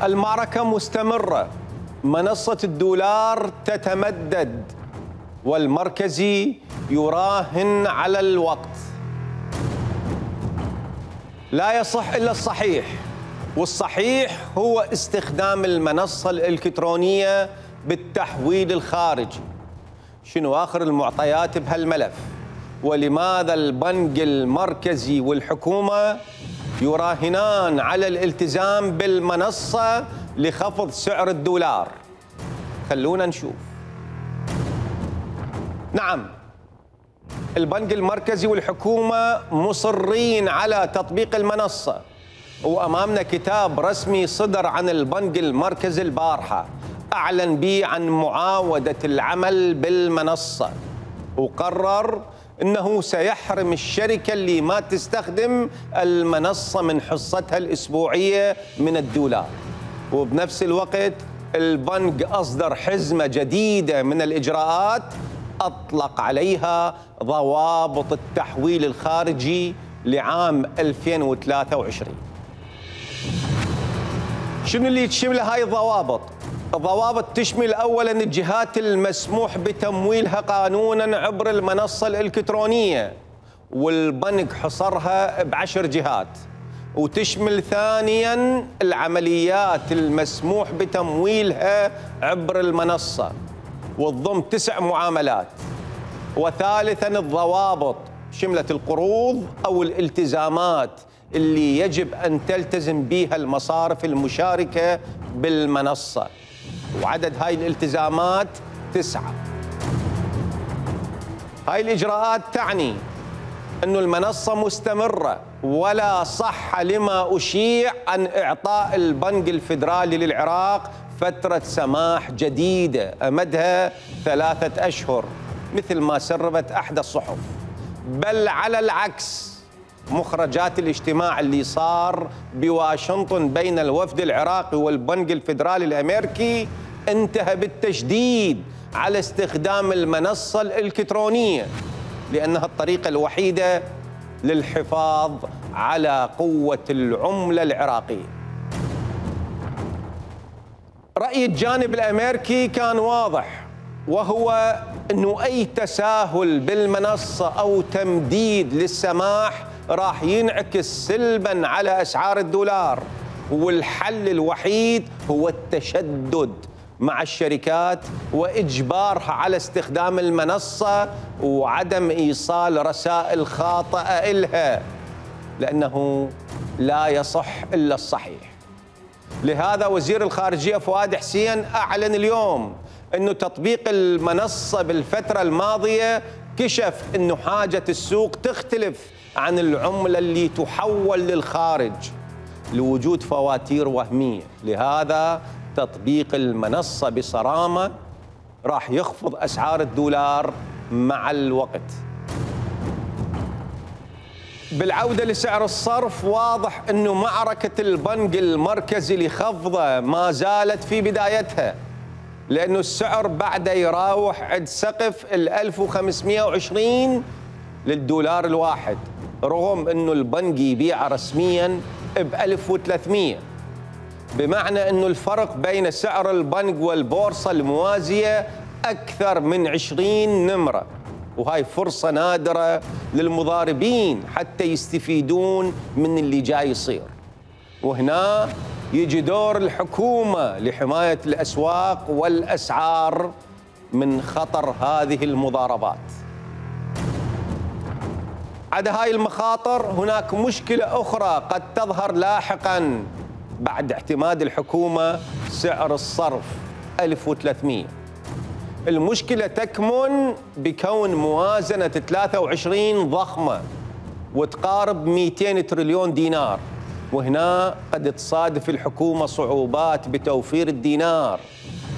المعركة مستمرة، منصة الدولار تتمدد والمركزي يراهن على الوقت. لا يصح إلا الصحيح، والصحيح هو استخدام المنصة الإلكترونية بالتحويل الخارجي. شنو آخر المعطيات بهالملف؟ ولماذا البنك المركزي والحكومة يراهنان على الالتزام بالمنصة لخفض سعر الدولار؟ خلونا نشوف. نعم، البنك المركزي والحكومة مصرين على تطبيق المنصة، وأمامنا كتاب رسمي صدر عن البنك المركزي البارحة أعلن به عن معاودة العمل بالمنصة، وقرر أنه سيحرم الشركة اللي ما تستخدم المنصة من حصتها الأسبوعية من الدولار. وبنفس الوقت البنك أصدر حزمة جديدة من الإجراءات أطلق عليها ضوابط التحويل الخارجي لعام 2023. شنو اللي تشمل هاي الضوابط؟ الضوابط تشمل أولاً الجهات المسموح بتمويلها قانوناً عبر المنصة الإلكترونية، والبنك حصرها ب10 جهات. وتشمل ثانياً العمليات المسموح بتمويلها عبر المنصة، وتضم 9 معاملات. وثالثاً الضوابط شملت القروض أو الالتزامات اللي يجب أن تلتزم بها المصارف المشاركة بالمنصة، وعدد هاي الالتزامات 9. هاي الإجراءات تعني أن المنصة مستمرة، ولا صح لما أشيع عن إعطاء البنك الفيدرالي للعراق فترة سماح جديدة أمدها 3 أشهر مثل ما سربت أحدى الصحف. بل على العكس، مخرجات الاجتماع اللي صار بواشنطن بين الوفد العراقي والبنك الفيدرالي الأمريكي انتهى بالتشديد على استخدام المنصة الإلكترونية، لأنها الطريقة الوحيدة للحفاظ على قوة العملة العراقية. رأي الجانب الأمريكي كان واضح، وهو أنه أي تساهل بالمنصة أو تمديد للسماح راح ينعكس سلباً على أسعار الدولار، والحل الوحيد هو التشدد مع الشركات وإجبارها على استخدام المنصة وعدم إيصال رسائل خاطئة إلها، لأنه لا يصح إلا الصحيح. لهذا وزير الخارجية فؤاد حسين أعلن اليوم أنه تطبيق المنصة بالفترة الماضية كشف أنه حاجة السوق تختلف عن العملة اللي تحول للخارج لوجود فواتير وهمية. لهذا تطبيق المنصة بصرامة راح يخفض أسعار الدولار مع الوقت. بالعودة لسعر الصرف، واضح أنه معركة البنك المركزي لخفضه ما زالت في بدايتها، لأنه السعر بعده يراوح عند سقف 1520 للدولار الواحد، رغم أنه البنك يبيعه رسمياً ب 1300، بمعنى أنه الفرق بين سعر البنك والبورصة الموازية أكثر من 20 نمرة. وهاي فرصة نادرة للمضاربين حتى يستفيدون من اللي جاي يصير. وهنا يجي دور الحكومة لحماية الأسواق والأسعار من خطر هذه المضاربات. عدا هاي المخاطر، هناك مشكلة أخرى قد تظهر لاحقاً بعد اعتماد الحكومة سعر الصرف 1300. المشكلة تكمن بكون موازنة 23 ضخمة وتقارب 200 تريليون دينار، وهنا قد تصادف الحكومة صعوبات بتوفير الدينار،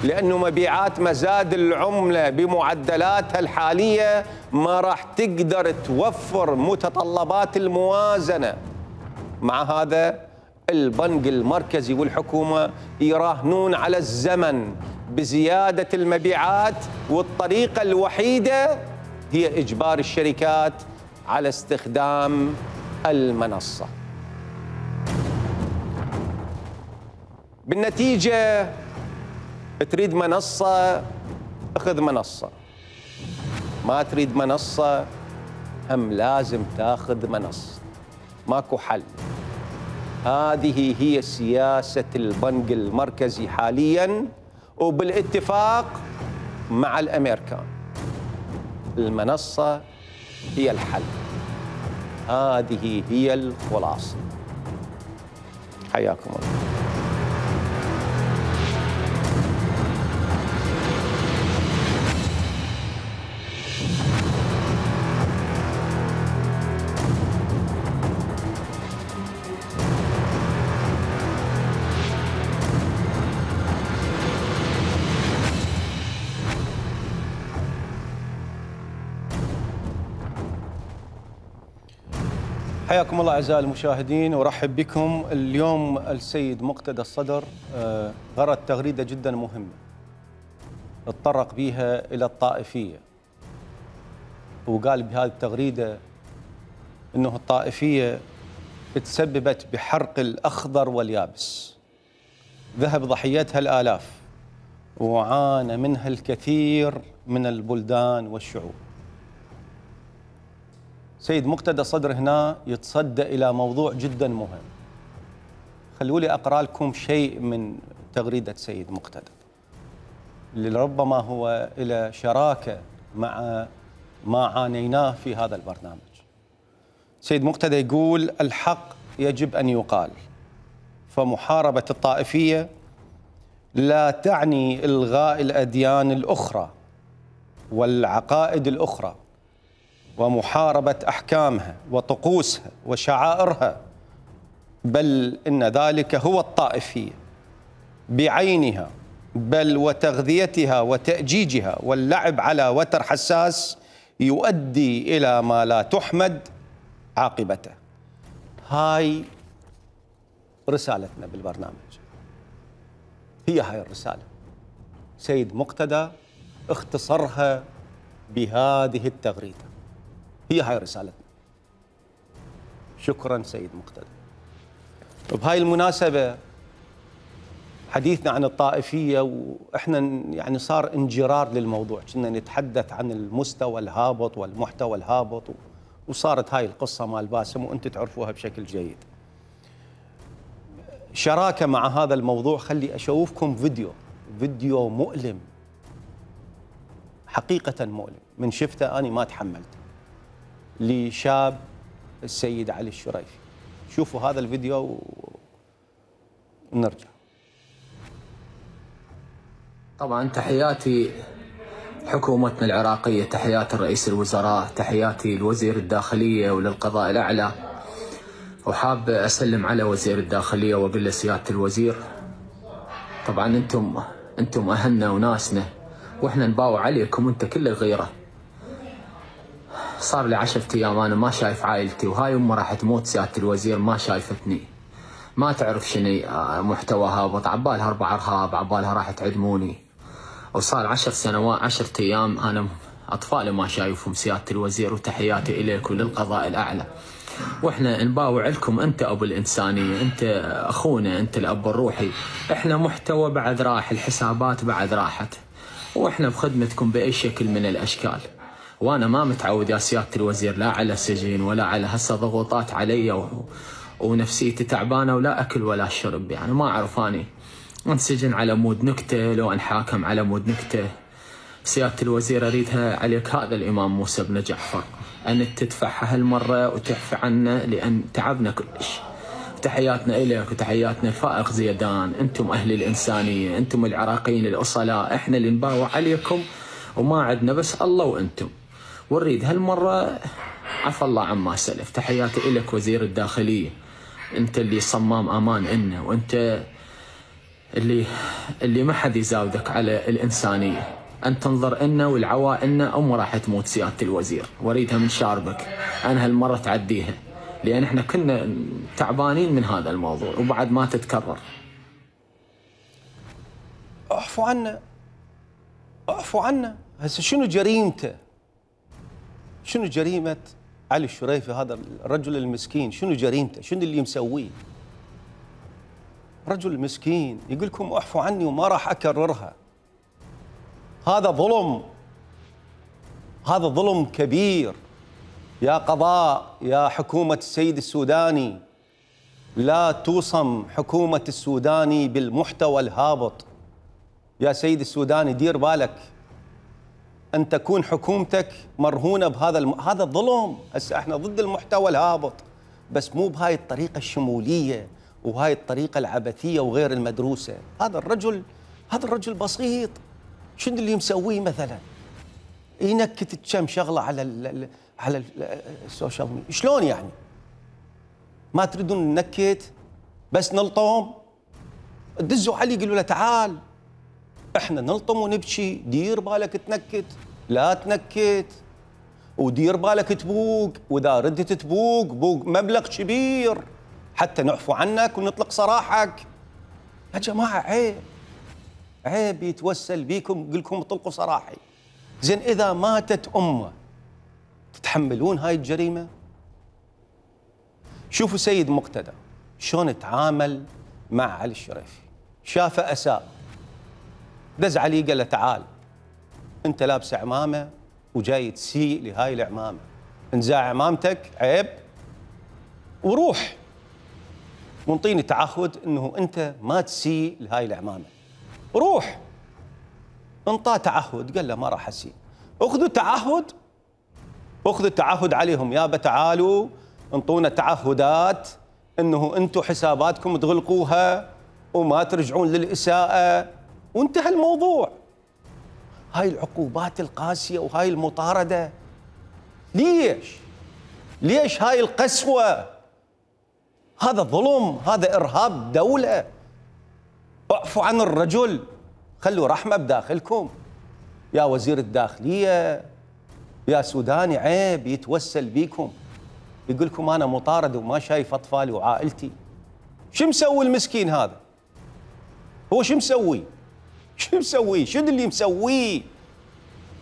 لأنه مبيعات مزاد العملة بمعدلاتها الحالية ما راح تقدر توفر متطلبات الموازنة. مع هذا البنك المركزي والحكومة يراهنون على الزمن بزيادة المبيعات، والطريقة الوحيدة هي إجبار الشركات على استخدام المنصة. بالنتيجة تريد منصة اخذ منصة، ما تريد منصة هم لازم تاخذ منصة، ماكو حل. هذه هي سياسة البنك المركزي حالياً وبالاتفاق مع الأمريكان. المنصة هي الحل، هذه هي الخلاصة. حياكم الله. حياكم الله أعزائي المشاهدين، ورحب بكم. اليوم السيد مقتدى الصدر غرد تغريدة جدا مهمة اتطرق بها إلى الطائفية، وقال بهذه التغريدة أنه الطائفية تسببت بحرق الأخضر واليابس، ذهب ضحيتها الآلاف وعانى منها الكثير من البلدان والشعوب. سيد مقتدى الصدر هنا يتصدى إلى موضوع جدا مهم. خلوا لي أقرأ لكم شيء من تغريدة سيد مقتدى اللي ربما هو إلى شراكة مع ما عانيناه في هذا البرنامج. سيد مقتدى يقول: الحق يجب أن يقال، فمحاربة الطائفية لا تعني إلغاء الأديان الأخرى والعقائد الأخرى ومحاربة أحكامها وطقوسها وشعائرها، بل إن ذلك هو الطائفية بعينها، بل وتغذيتها وتأجيجها واللعب على وتر حساس يؤدي إلى ما لا تحمد عاقبته. هاي رسالتنا بالبرنامج، هي هاي الرسالة. سيد مقتدى اختصرها بهذه التغريدة، هي هاي رسالتنا. شكرا سيد مقتدى. بهاي المناسبة حديثنا عن الطائفية، وإحنا يعني صار انجرار للموضوع، كنا نتحدث عن المستوى الهابط والمحتوى الهابط، وصارت هاي القصة مال باسم وأنتم تعرفوها بشكل جيد. شراكة مع هذا الموضوع، خلي أشوفكم فيديو مؤلم، حقيقة مؤلم، من شفته أنا ما تحملته، لشاب السيد علي الشريفي. شوفوا هذا الفيديو ونرجع. طبعا تحياتي حكومتنا العراقية، تحياتي رئيس الوزراء، تحياتي لوزير الداخلية وللقضاء الأعلى، وحاب أسلم على وزير الداخلية وأقول له: سيادة الوزير، طبعا أنتم أهلنا وناسنا، وإحنا نباوع عليكم أنت كل الغيرة. صار لي 10 أيام أنا ما شايف عائلتي، وهاي أمه راح تموت سيادة الوزير ما شايفتني، ما تعرف شنو محتوى هابط، عبالها 4 إرهاب، عبالها راح تعدموني. وصار 10 سنوات 10 أيام أنا أطفالي ما شايفهم سيادة الوزير، وتحياتي إليك وللقضاء الأعلى. وإحنا نباوع لكم، أنت أبو الإنسانية، أنت أخونا، أنت الأب الروحي. إحنا محتوى بعد راح، الحسابات بعد راحت، وإحنا بخدمتكم بأي شكل من الأشكال. وأنا ما متعود يا سيادة الوزير لا على سجن ولا على هسه ضغوطات علي ونفسيتي تعبانة ولا أكل ولا شرب، يعني ما أعرف أني انسجن على مود نكتة لو انحاكم على مود نكتة. سيادة الوزير أريدها عليك هذا الإمام موسى بن جعفر، أن تدفعها هالمرة وتعفى عنا لأن تعبنا كلش. تحياتنا إليك وتحياتنا الفائق زيدان، أنتم أهل الإنسانية، أنتم العراقيين الأصلاء، إحنا اللي نباوع عليكم وما عندنا بس الله وأنتم، ونريد هالمرة عفى الله عما سلف. تحياتي إليك وزير الداخلية، أنت اللي صمام أمان إلنا، وأنت اللي ما حد يزاودك على الإنسانية. أن تنظر إلنا والعوائلنا أم راح تموت سيادة الوزير، واريدها من شاربك أنا هالمرة تعديها، لأن إحنا كنا تعبانين من هذا الموضوع وبعد ما تتكرر. اعفوا عنا، اعفوا عنا. هسه شنو جريمته؟ شنو جريمة علي الشريفي هذا الرجل المسكين؟ شنو جريمته؟ شنو اللي مسويه؟ رجل مسكين يقول لكم اعفوا عني وما راح اكررها. هذا ظلم، هذا ظلم كبير. يا قضاء، يا حكومة السيد السوداني، لا توصم حكومة السوداني بالمحتوى الهابط. يا سيد السوداني دير بالك أن تكون حكومتك مرهونة بهذا هذا ظلم. هسه احنا ضد المحتوى الهابط، بس مو بهاي الطريقة الشمولية وهاي الطريقة العبثية وغير المدروسة. هذا الرجل بسيط، شنو اللي مسويه مثلا؟ ينكت كم شغلة على السوشيال ميديا. شلون يعني؟ ما تريدون ننكت بس نلطم؟ دزوا علي قالوا له تعال احنا نلطم ونبكي، دير بالك تنكت، لا تنكت، ودير بالك تبوق، واذا ردت تبوق بوق مبلغ كبير حتى نعفو عنك ونطلق سراحك. يا جماعه عيب يتوسل بيكم يقول لكم اطلقوا سراحي. زين اذا ماتت امه تتحملون هاي الجريمه؟ شوفوا سيد مقتدى شلون تعامل مع علي الشريفي، شافه اساء، دز عليه قال له تعال انت لابس عمامه وجاي تسيء لهاي العمامه، انزع عمامتك عيب وروح وانطيني تعهد انه انت ما تسيء لهاي العمامه. روح. انطاه تعهد قال له ما راح اسيء. اخذوا تعهد عليهم، يابا تعالوا انطونا تعهدات انه انتم حساباتكم تغلقوها وما ترجعون للاساءه، وانتهى الموضوع. هاي العقوبات القاسيه وهاي المطارده ليش هاي القسوه؟ هذا ظلم، هذا ارهاب دوله. اعفوا عن الرجل، خلوا رحمه بداخلكم. يا وزير الداخليه، يا سوداني عيب يتوسل بيكم يقول لكم انا مطارد وما شايف اطفالي وعائلتي. شو مسوي المسكين هذا؟ هو شو مسوي؟ شنو اللي مسويه؟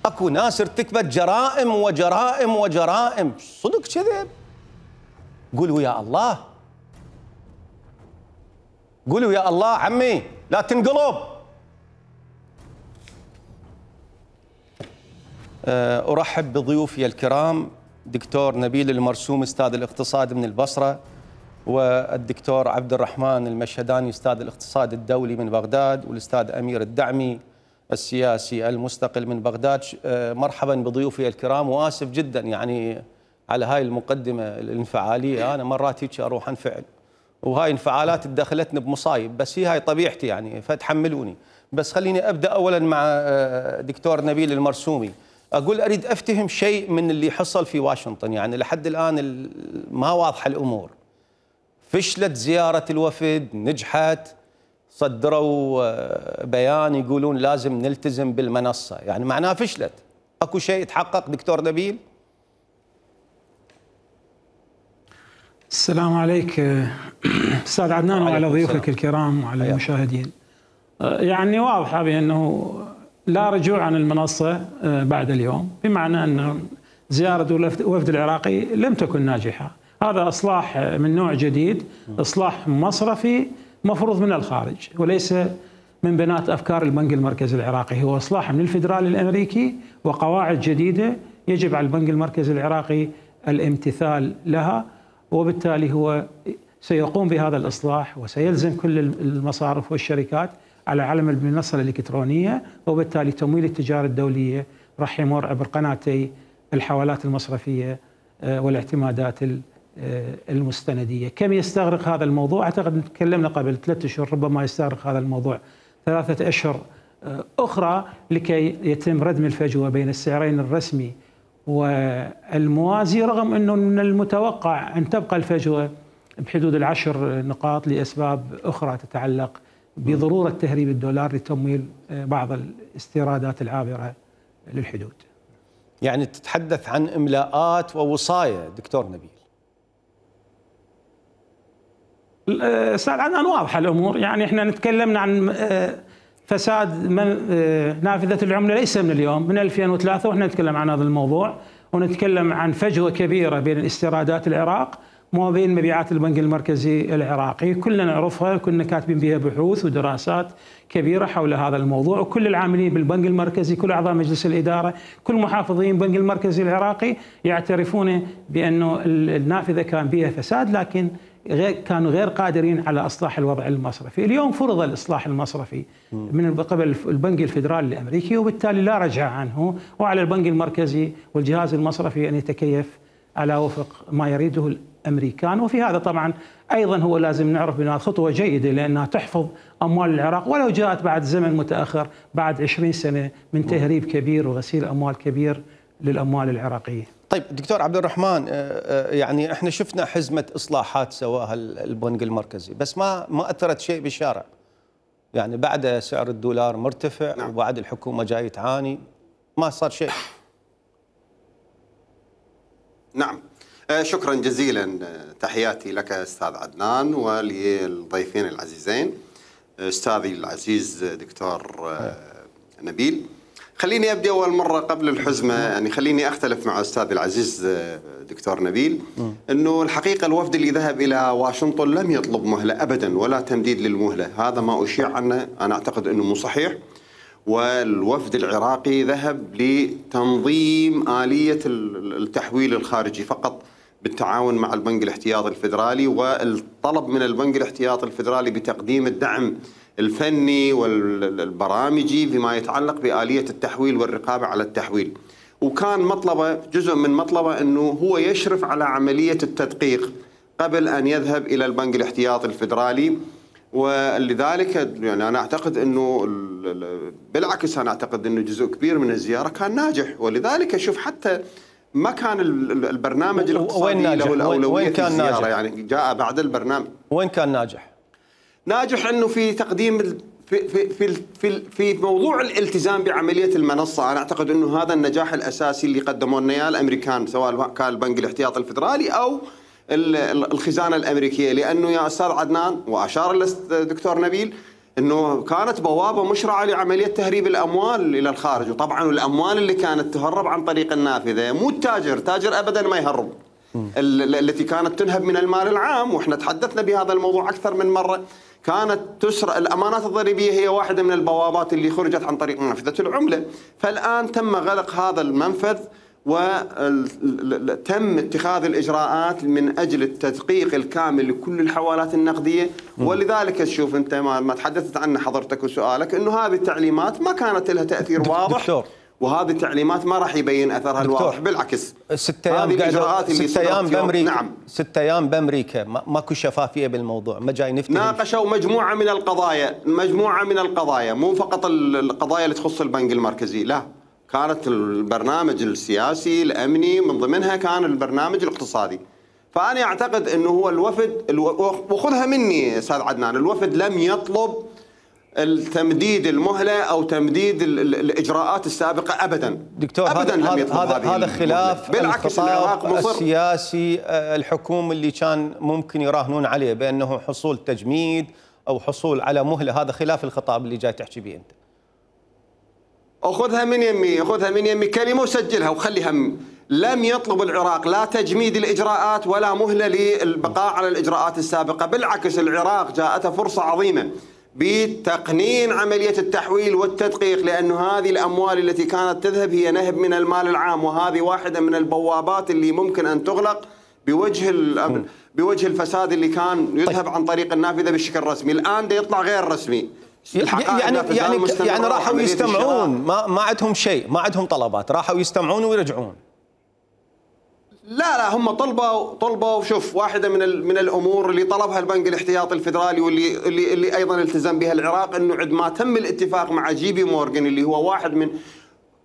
اكو ناس ارتكبت جرائم وجرائم وجرائم، صدق كذب؟ قولوا يا الله، قولوا يا الله عمي لا تنقلب. ارحب بضيوفي الكرام دكتور نبيل المرسوم استاذ الاقتصاد من البصره، والدكتور عبد الرحمن المشهداني استاذ الاقتصاد الدولي من بغداد، والاستاذ امير الدعمي السياسي المستقل من بغداد. مرحبا بضيوفي الكرام، واسف جدا يعني على هاي المقدمه الانفعاليه. انا مرات هيك اروح انفعل وهاي انفعالات دخلتني بمصايب، بس هي هاي طبيعتي يعني فتحملوني. بس خليني ابدا اولا مع دكتور نبيل المرسومي. اقول اريد افتهم شيء من اللي حصل في واشنطن، يعني لحد الان ما واضحه الامور. فشلت زياره الوفد، نجحت، صدروا بيان يقولون لازم نلتزم بالمنصه، يعني معناها فشلت. اكو شيء تحقق دكتور نبيل؟ السلام عليك استاذ عدنان وعلى ضيوفك الكرام وعلى المشاهدين. يعني واضحه بانه لا رجوع عن المنصه بعد اليوم، بمعنى ان زياره الوفد العراقي لم تكن ناجحه. هذا اصلاح من نوع جديد، اصلاح مصرفي مفروض من الخارج وليس من بنات افكار البنك المركزي العراقي، هو اصلاح من الفدرالي الامريكي وقواعد جديده يجب على البنك المركزي العراقي الامتثال لها، وبالتالي هو سيقوم بهذا الإصلاح وسيلزم كل المصارف والشركات على علم المنصة الإلكترونية، وبالتالي تمويل التجارة الدولية راح يمر عبر قناتي الحوالات المصرفية والاعتمادات المستندية. كم يستغرق هذا الموضوع؟ أعتقد تكلمنا قبل 3 أشهر، ربما يستغرق هذا الموضوع 3 أشهر أخرى لكي يتم ردم الفجوة بين السعرين الرسمي والموازي، رغم أنه من المتوقع أن تبقى الفجوة بحدود 10 نقاط لأسباب أخرى تتعلق بضرورة تهريب الدولار لتمويل بعض الاستيرادات العابرة للحدود. يعني تتحدث عن إملاءات ووصاية دكتور نبيل. أستاذ عدنان واضحة الأمور، يعني احنا نتكلمنا عن فساد نافذة العملة ليس من اليوم، من 2003 واحنا نتكلم عن هذا الموضوع، ونتكلم عن فجوة كبيرة بين استيرادات العراق ما بين مبيعات البنك المركزي العراقي، كلنا نعرفها، كنا كاتبين بها بحوث ودراسات كبيرة حول هذا الموضوع، وكل العاملين بالبنك المركزي، كل أعضاء مجلس الإدارة، كل محافظين البنك المركزي العراقي يعترفون بأنه النافذة كان بها فساد، لكن كانوا غير قادرين على إصلاح الوضع المصرفي. اليوم فرض الإصلاح المصرفي من قبل البنك الفيدرالي الأمريكي، وبالتالي لا رجعة عنه، وعلى البنك المركزي والجهاز المصرفي أن يتكيف على وفق ما يريده الأمريكان. وفي هذا طبعا أيضا هو لازم نعرف بأنها خطوة جيدة، لأنها تحفظ أموال العراق ولو جاءت بعد زمن متأخر، بعد 20 سنة من تهريب كبير وغسيل أموال كبير للأموال العراقية. طيب دكتور عبد الرحمن، يعني احنا شفنا حزمة إصلاحات سواها البنك المركزي، بس ما أثرت شيء بالشارع. يعني بعد سعر الدولار مرتفع، نعم، وبعد الحكومة جاي تعاني، ما صار شيء. نعم، شكرا جزيلا. تحياتي لك أستاذ عدنان وللضيفين العزيزين، أستاذي العزيز دكتور نبيل. خليني أبدأ أول مرة قبل الحزمة، يعني خليني أختلف مع أستاذي العزيز دكتور نبيل، أنه الحقيقة الوفد اللي ذهب إلى واشنطن لم يطلب مهلة أبدا ولا تمديد للمهلة، هذا ما أشيع عنه أنا أعتقد أنه مو صحيح. والوفد العراقي ذهب لتنظيم آلية التحويل الخارجي فقط بالتعاون مع البنك الاحتياطي الفيدرالي، والطلب من البنك الاحتياطي الفيدرالي بتقديم الدعم الفني والبرامجي فيما يتعلق بآلية التحويل والرقابة على التحويل. وكان مطلبه، جزء من مطلبه، أنه هو يشرف على عملية التدقيق قبل أن يذهب إلى البنك الاحتياطي الفيدرالي. ولذلك يعني أنا أعتقد أنه بالعكس، أنا أعتقد أنه جزء كبير من الزيارة كان ناجح. ولذلك شوف حتى ما كان البرنامج الاقتصادي له الأولوية في الزيارة، يعني جاء بعد البرنامج. وين كان ناجح؟ ناجح أنه في تقديم في موضوع الالتزام بعملية المنصة. أنا أعتقد أنه هذا النجاح الأساسي اللي قدموه لنا إياه الأمريكان، سواء كان البنك الاحتياطي الفيدرالي أو الخزانة الأمريكية. لأنه يا أستاذ عدنان، وأشار الدكتور نبيل، أنه كانت بوابة مشرعة لعملية تهريب الأموال إلى الخارج. وطبعا الأموال اللي كانت تهرب عن طريق النافذة، مو تاجر أبدا ما يهرب، التي كانت تنهب من المال العام، وإحنا تحدثنا بهذا الموضوع أكثر من مرة. كانت تسرق الأمانات الضريبية، هي واحدة من البوابات اللي خرجت عن طريق منفذة العملة. فالآن تم غلق هذا المنفذ، وتم اتخاذ الإجراءات من أجل التدقيق الكامل لكل الحوالات النقدية. ولذلك تشوف أنت ما تحدثت عنه حضرتك وسؤالك، أنه هذه التعليمات ما كانت لها تأثير واضح، دكتور. وهذه التعليمات ما راح يبين أثرها الواضح، بالعكس. 6 أيام، هذه الإجراءات اللي 6 أيام بأمريكا. نعم، 6 أيام بأمريكا، ماكو شفافية بالموضوع، ما جاي نفتح. ناقشوا مجموعة من القضايا، مو فقط القضايا اللي تخص البنك المركزي، لا، كانت البرنامج السياسي الأمني، من ضمنها كان البرنامج الاقتصادي. فأنا أعتقد أنه هو الوفد، وخذها مني أستاذ عدنان، الوفد لم يطلب التمديد المهلة أو تمديد الإجراءات السابقة أبدا. دكتور، أبدا لم يطلب هذا خلاف بالعكس العراق السياسي الحكومي اللي كان ممكن يراهنون عليه بأنه حصول تجميد أو حصول على مهلة. هذا خلاف الخطاب اللي جاي تحكي به أنت. أخذها من يمي كلمة وسجلها وخليها. لم يطلب العراق لا تجميد الإجراءات ولا مهلة للبقاء على الإجراءات السابقة. بالعكس العراق جاءته فرصة عظيمة بتقنين عملية التحويل والتدقيق، لأنه هذه الأموال التي كانت تذهب هي نهب من المال العام، وهذه واحدة من البوابات اللي ممكن أن تغلق بوجه الفساد اللي كان يذهب عن طريق النافذة بالشكل الرسمي. الآن ده يطلع غير رسمي. يعني راحوا يستمعون، ما عندهم شيء، ما عندهم طلبات، راحوا يستمعون ويرجعون. لا هم طلبوا شوف، واحدة من الأمور اللي طلبها البنك الاحتياطي الفيدرالي واللي أيضا التزم بها العراق، أنه عندما تم الاتفاق مع جي بي مورغان اللي هو واحد من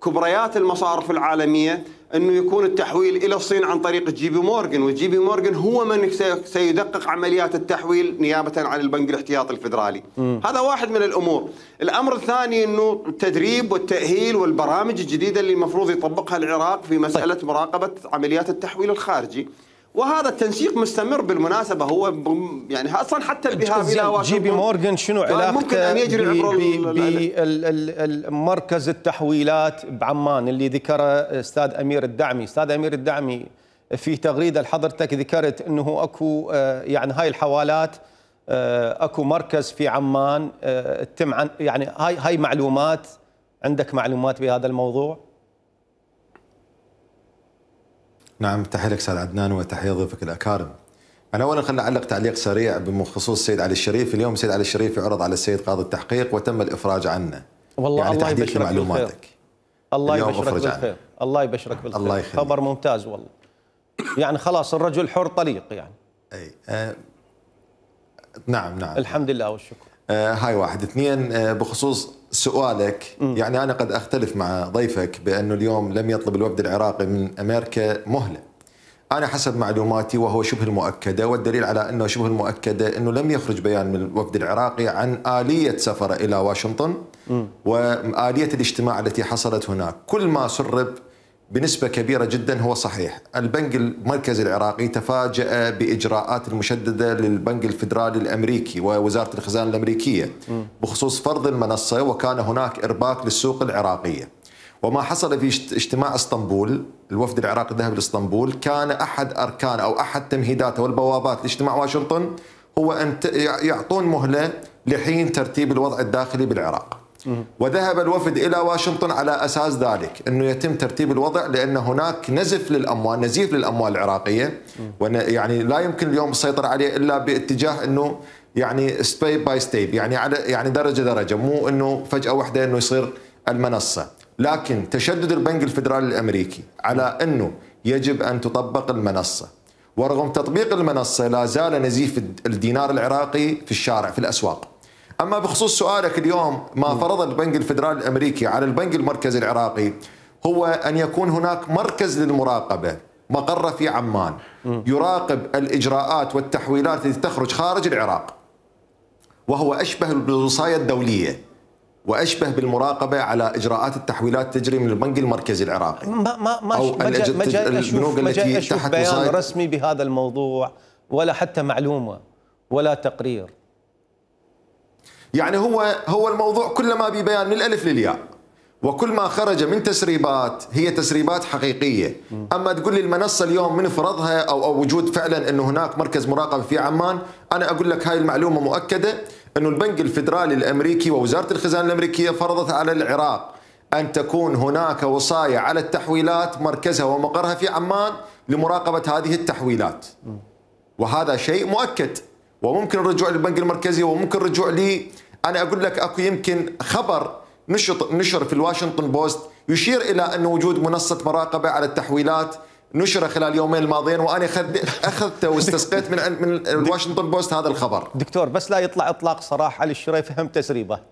كبريات المصارف العالمية، أنه يكون التحويل إلى الصين عن طريق جي بي مورغان، وجي بي مورغان هو من سيدقق عمليات التحويل نيابة عن البنك الاحتياطي الفيدرالي. هذا واحد من الأمور. الأمر الثاني أنه التدريب والتأهيل والبرامج الجديدة اللي المفروض يطبقها العراق في مسألة مراقبة عمليات التحويل الخارجي، وهذا التنسيق مستمر بالمناسبة. هو يعني أصلا حتى الذهاب إلى واشنطن، جي بي مورغان شنو علاقته ممكن أن يجري عبر مركز التحويلات بعمان اللي ذكره أستاذ أمير الدعمي؟ أستاذ أمير الدعمي، في تغريده لحضرتك ذكرت انه اكو يعني هاي الحوالات اكو مركز في عمان تم عن يعني هاي معلومات، عندك معلومات بهذا الموضوع؟ نعم، تحية لك استاذ عدنان وتحية ضيوفك الاكارم. انا اولا خليني اعلق تعليق سريع بخصوص السيد علي الشريف. اليوم السيد علي الشريف يعرض على السيد قاضي التحقيق وتم الافراج عنه. والله يعني الله تحديد يبشرك معلوماتك. الله يبشرك بالخير. الله يبشرك بالخير. الله يخليك. خبر ممتاز والله. يعني خلاص الرجل حر طليق يعني. اي نعم. الحمد لله والشكر. هاي واحد. اثنين، بخصوص سؤالك، يعني انا قد اختلف مع ضيفك بانه اليوم لم يطلب الوفد العراقي من امريكا مهله. أنا حسب معلوماتي وهو شبه المؤكدة، والدليل على أنه شبه المؤكدة أنه لم يخرج بيان من الوفد العراقي عن آلية سفره إلى واشنطن وآلية الاجتماع التي حصلت هناك. كل ما سرب بنسبة كبيرة جدا هو صحيح. البنك المركزي العراقي تفاجأ بإجراءات المشددة للبنك الفيدرالي الأمريكي ووزارة الخزانة الأمريكية بخصوص فرض المنصة، وكان هناك إرباك للسوق العراقية. وما حصل في اجتماع اسطنبول، الوفد العراقي ذهب لاسطنبول، كان احد اركان او احد تمهيداته والبوابات لاجتماع واشنطن هو ان يعطون مهله لحين ترتيب الوضع الداخلي بالعراق. وذهب الوفد الى واشنطن على اساس ذلك انه يتم ترتيب الوضع، لان هناك نزيف للاموال العراقيه، يعني لا يمكن اليوم السيطره عليه الا باتجاه انه يعني ستيب باي ستيب، يعني على يعني درجه، مو انه فجاه واحده انه يصير المنصه. لكن تشدد البنك الفيدرالي الأمريكي على أنه يجب أن تطبق المنصة، ورغم تطبيق المنصة لا زال نزيف الدينار العراقي في الشارع في الأسواق. أما بخصوص سؤالك اليوم، ما فرض البنك الفيدرالي الأمريكي على البنك المركزي العراقي هو أن يكون هناك مركز للمراقبة مقره في عمان يراقب الإجراءات والتحويلات التي تخرج خارج العراق، وهو أشبه بالوصاية الدولية وأشبه بالمراقبة على إجراءات التحويلات تجري من البنك المركزي العراقي. أو البنوك التي تحت بيان رسمي بهذا الموضوع ولا حتى معلومة ولا تقرير. يعني هو الموضوع كلما ببيان من الألف للياء، وكل ما خرج من تسريبات هي تسريبات حقيقية. أما تقول لي المنصة اليوم من فرضها أو وجود فعلا أنه هناك مركز مراقبة في عمان، أنا أقول لك هاي المعلومة مؤكدة، أنه البنك الفيدرالي الأمريكي ووزارة الخزانة الأمريكية فرضت على العراق أن تكون هناك وصاية على التحويلات مركزها ومقرها في عمان لمراقبة هذه التحويلات، وهذا شيء مؤكد. وممكن الرجوع للبنك المركزي وممكن الرجوع لي، أنا أقول لك أكو يمكن خبر نشر في الواشنطن بوست يشير إلى أن وجود منصة مراقبة على التحويلات نشر خلال اليومين الماضيين، وأنا أخذته واستسقيت من الواشنطن بوست هذا الخبر. دكتور بس لا يطلع إطلاق صراحة علي الشريف هم تسريبات.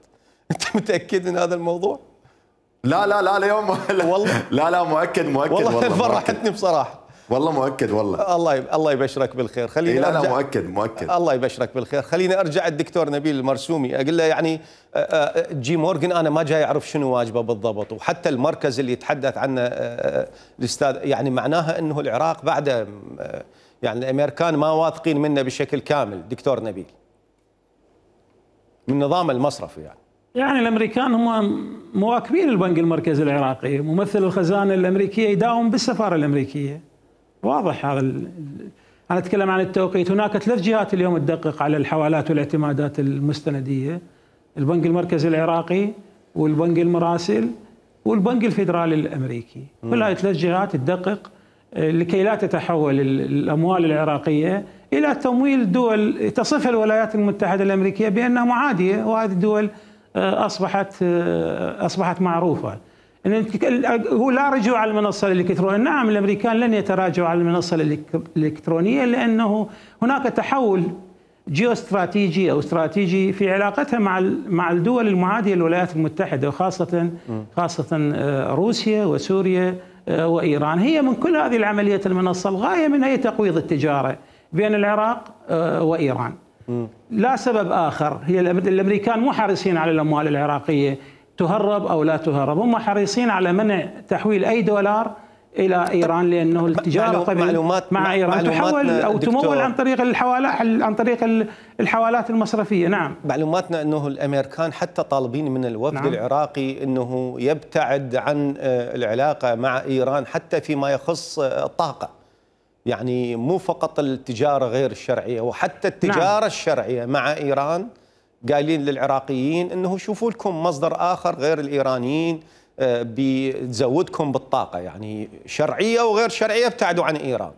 أنت متأكد من هذا الموضوع؟ لا اليوم والله لا مؤكد والله فرحتني بصراحة. والله مؤكد والله. الله يبشرك بالخير. خليني لا مؤكد. الله يبشرك بالخير. خليني ارجع الدكتور نبيل المرسومي اقول له يعني جي مورغان انا ما جاي اعرف شنو واجبه بالضبط، وحتى المركز اللي يتحدث عنه الاستاذ يعني معناها انه العراق بعد يعني الامريكان ما واثقين منه بشكل كامل. دكتور نبيل من نظام المصرف يعني الامريكان هم مواكبين البنك المركزي العراقي، ممثل الخزانه الامريكيه يداوم بالسفاره الامريكيه، واضح هذا. انا اتكلم عن التوقيت. هناك 3 جهات اليوم تدقق على الحوالات والاعتمادات المستنديه: البنك المركزي العراقي والبنك المراسل والبنك الفيدرالي الامريكي. كل هاي 3 جهات تدقق لكي لا تتحول الاموال العراقيه الى تمويل دول تصفها الولايات المتحده الامريكيه بانها معاديه، وهذه الدول اصبحت معروفه. هو لا رجوع على المنصه الالكترونيه. نعم الامريكان لن يتراجعوا على المنصه الالكترونيه لانه هناك تحول جيوستراتيجي او استراتيجي في علاقتها مع الدول المعاديه للولايات المتحده، وخاصه روسيا وسوريا وايران. هي من كل هذه العمليات المنصه الغايه منها هي تقويض التجاره بين العراق وايران. لا سبب آخر. هي الأمريكان مو حريصين على الأموال العراقية تهرب أو لا تهرب، هم حريصين على منع تحويل أي دولار إلى إيران، لأنه التجارة مع إيران تحول أو تمول عن طريق الحوالات المصرفية. نعم معلوماتنا أنه الأمريكان حتى طالبين من الوفد العراقي أنه يبتعد عن العلاقة مع إيران حتى فيما يخص الطاقة، يعني مو فقط التجارة غير الشرعية، وحتى التجارة نعم. الشرعية مع إيران قايلين للعراقيين أنه شوفوا لكم مصدر آخر غير الإيرانيين بتزودكم بالطاقة، يعني شرعية وغير شرعية ابتعدوا عن إيران.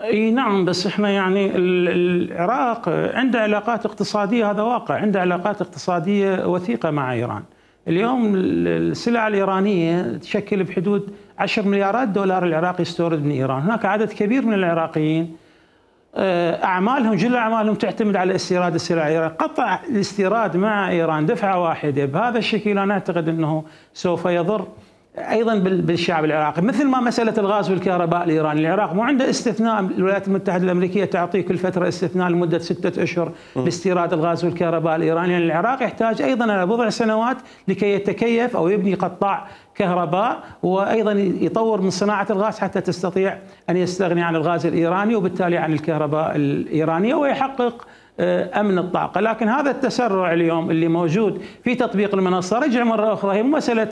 اي نعم، بس احنا يعني العراق عنده علاقات اقتصادية، هذا واقع، عنده علاقات اقتصادية وثيقة مع إيران. اليوم السلع الإيرانية تشكل بحدود 10 مليارات دولار العراق يستورد من إيران. هناك عدد كبير من العراقيين أعمالهم، جل أعمالهم تعتمد على استيراد السلع الإيرانية. قطع الاستيراد مع إيران دفعة واحدة بهذا الشكل أنا أعتقد أنه سوف يضر أيضا بالشعب العراقي، مثل ما مسألة الغاز والكهرباء الإيراني. العراق مو عنده استثناء، الولايات المتحدة الأمريكية تعطيه كل فترة استثناء لمدة 6 أشهر باستيراد الغاز والكهرباء الإيراني. يعني العراق يحتاج أيضا إلى بضع سنوات لكي يتكيف أو يبني قطاع كهرباء، وأيضا يطور من صناعة الغاز حتى تستطيع أن يستغني عن الغاز الإيراني وبالتالي عن الكهرباء الإيرانية ويحقق أمن الطاقة. لكن هذا التسرع اليوم اللي موجود في تطبيق المنصة، رجع مرة أخرى، هي مسألة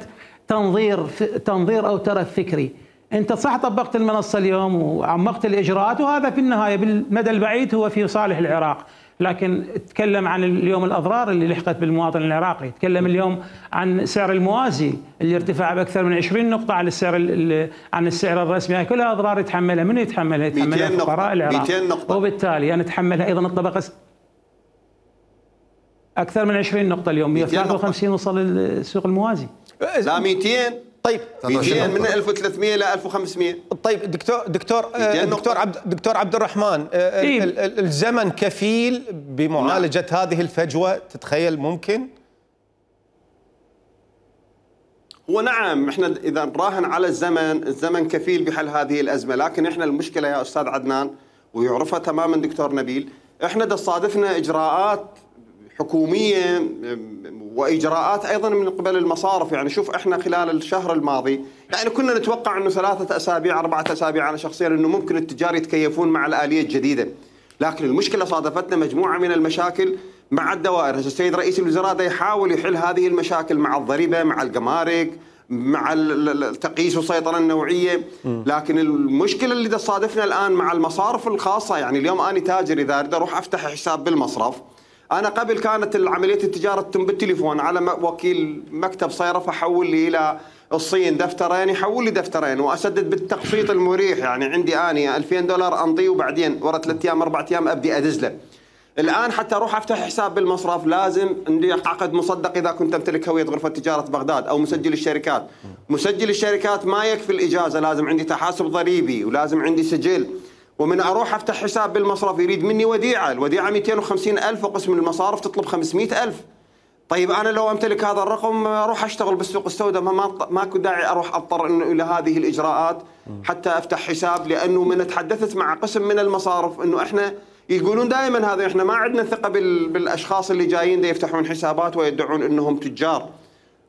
تنظير أو ترف فكري. أنت صح طبقت المنصة اليوم وعمقت الإجراءات، وهذا في النهاية بالمدى البعيد هو في صالح العراق، لكن تكلم عن اليوم الأضرار اللي لحقت بالمواطن العراقي. تكلم اليوم عن سعر الموازي اللي ارتفع بأكثر من 20 نقطة عن السعر الرسمي. هاي كلها أضرار يتحملها، من يتحملها؟ يتحملها فقراء العراق، وبالتالي نتحملها أيضا الطبقة. أكثر من 20 نقطة اليوم، 153 وصل السوق الموازي. لا 200. طيب 200 من 1300 ل 1500. طيب دكتور عبد الرحمن، الزمن كفيل بمعالجة هذه الفجوة؟ تتخيل ممكن؟ هو نعم، احنا اذا نراهن على الزمن كفيل بحل هذه الازمه، لكن احنا المشكله يا استاذ عدنان ويعرفها تماما دكتور نبيل، احنا تصادفنا اجراءات حكوميه واجراءات ايضا من قبل المصارف. يعني شوف احنا خلال الشهر الماضي يعني كنا نتوقع انه 3 أسابيع 4 أسابيع انا شخصيا انه ممكن التجار يتكيفون مع الاليه الجديده، لكن المشكله صادفتنا مجموعه من المشاكل مع الدوائر. السيد رئيس الوزراء دا يحاول يحل هذه المشاكل مع الضريبه، مع الجمارك، مع التقييس والسيطره النوعيه، لكن المشكله اللي تصادفنا الان مع المصارف الخاصه. يعني اليوم انا تاجر اذا اريد اروح افتح حساب بالمصرف، أنا قبل كانت عملية التجارة تتم بالتليفون على وكيل مكتب صيرفة حول لي إلى الصين دفترين، يحول لي دفترين وأسدد بالتقسيط المريح. يعني عندي أنا $2000 أنطيه وبعدين ورا 3 أيام 4 أيام أبدي أدزله. الآن حتى أروح أفتح حساب بالمصرف لازم عندي عقد مصدق إذا كنت أمتلك هوية غرفة تجارة بغداد أو مسجل الشركات. مسجل الشركات ما يكفي الإجازة، لازم عندي تحاسب ضريبي ولازم عندي سجل. ومن أروح أفتح حساب بالمصرف يريد مني وديعة، الوديعة 250,000 وقسم من المصارف تطلب 500,000. طيب أنا لو أمتلك هذا الرقم أروح أشتغل بالسوق السوداء، ماكو داعي أروح أضطر إنه إلى هذه الإجراءات حتى أفتح حساب. لأنه من تحدثت مع قسم من المصارف إنه إحنا يقولون دائما هذا، إحنا ما عندنا ثقة بالأشخاص اللي جايين دا يفتحون حسابات ويدعون إنهم تجار.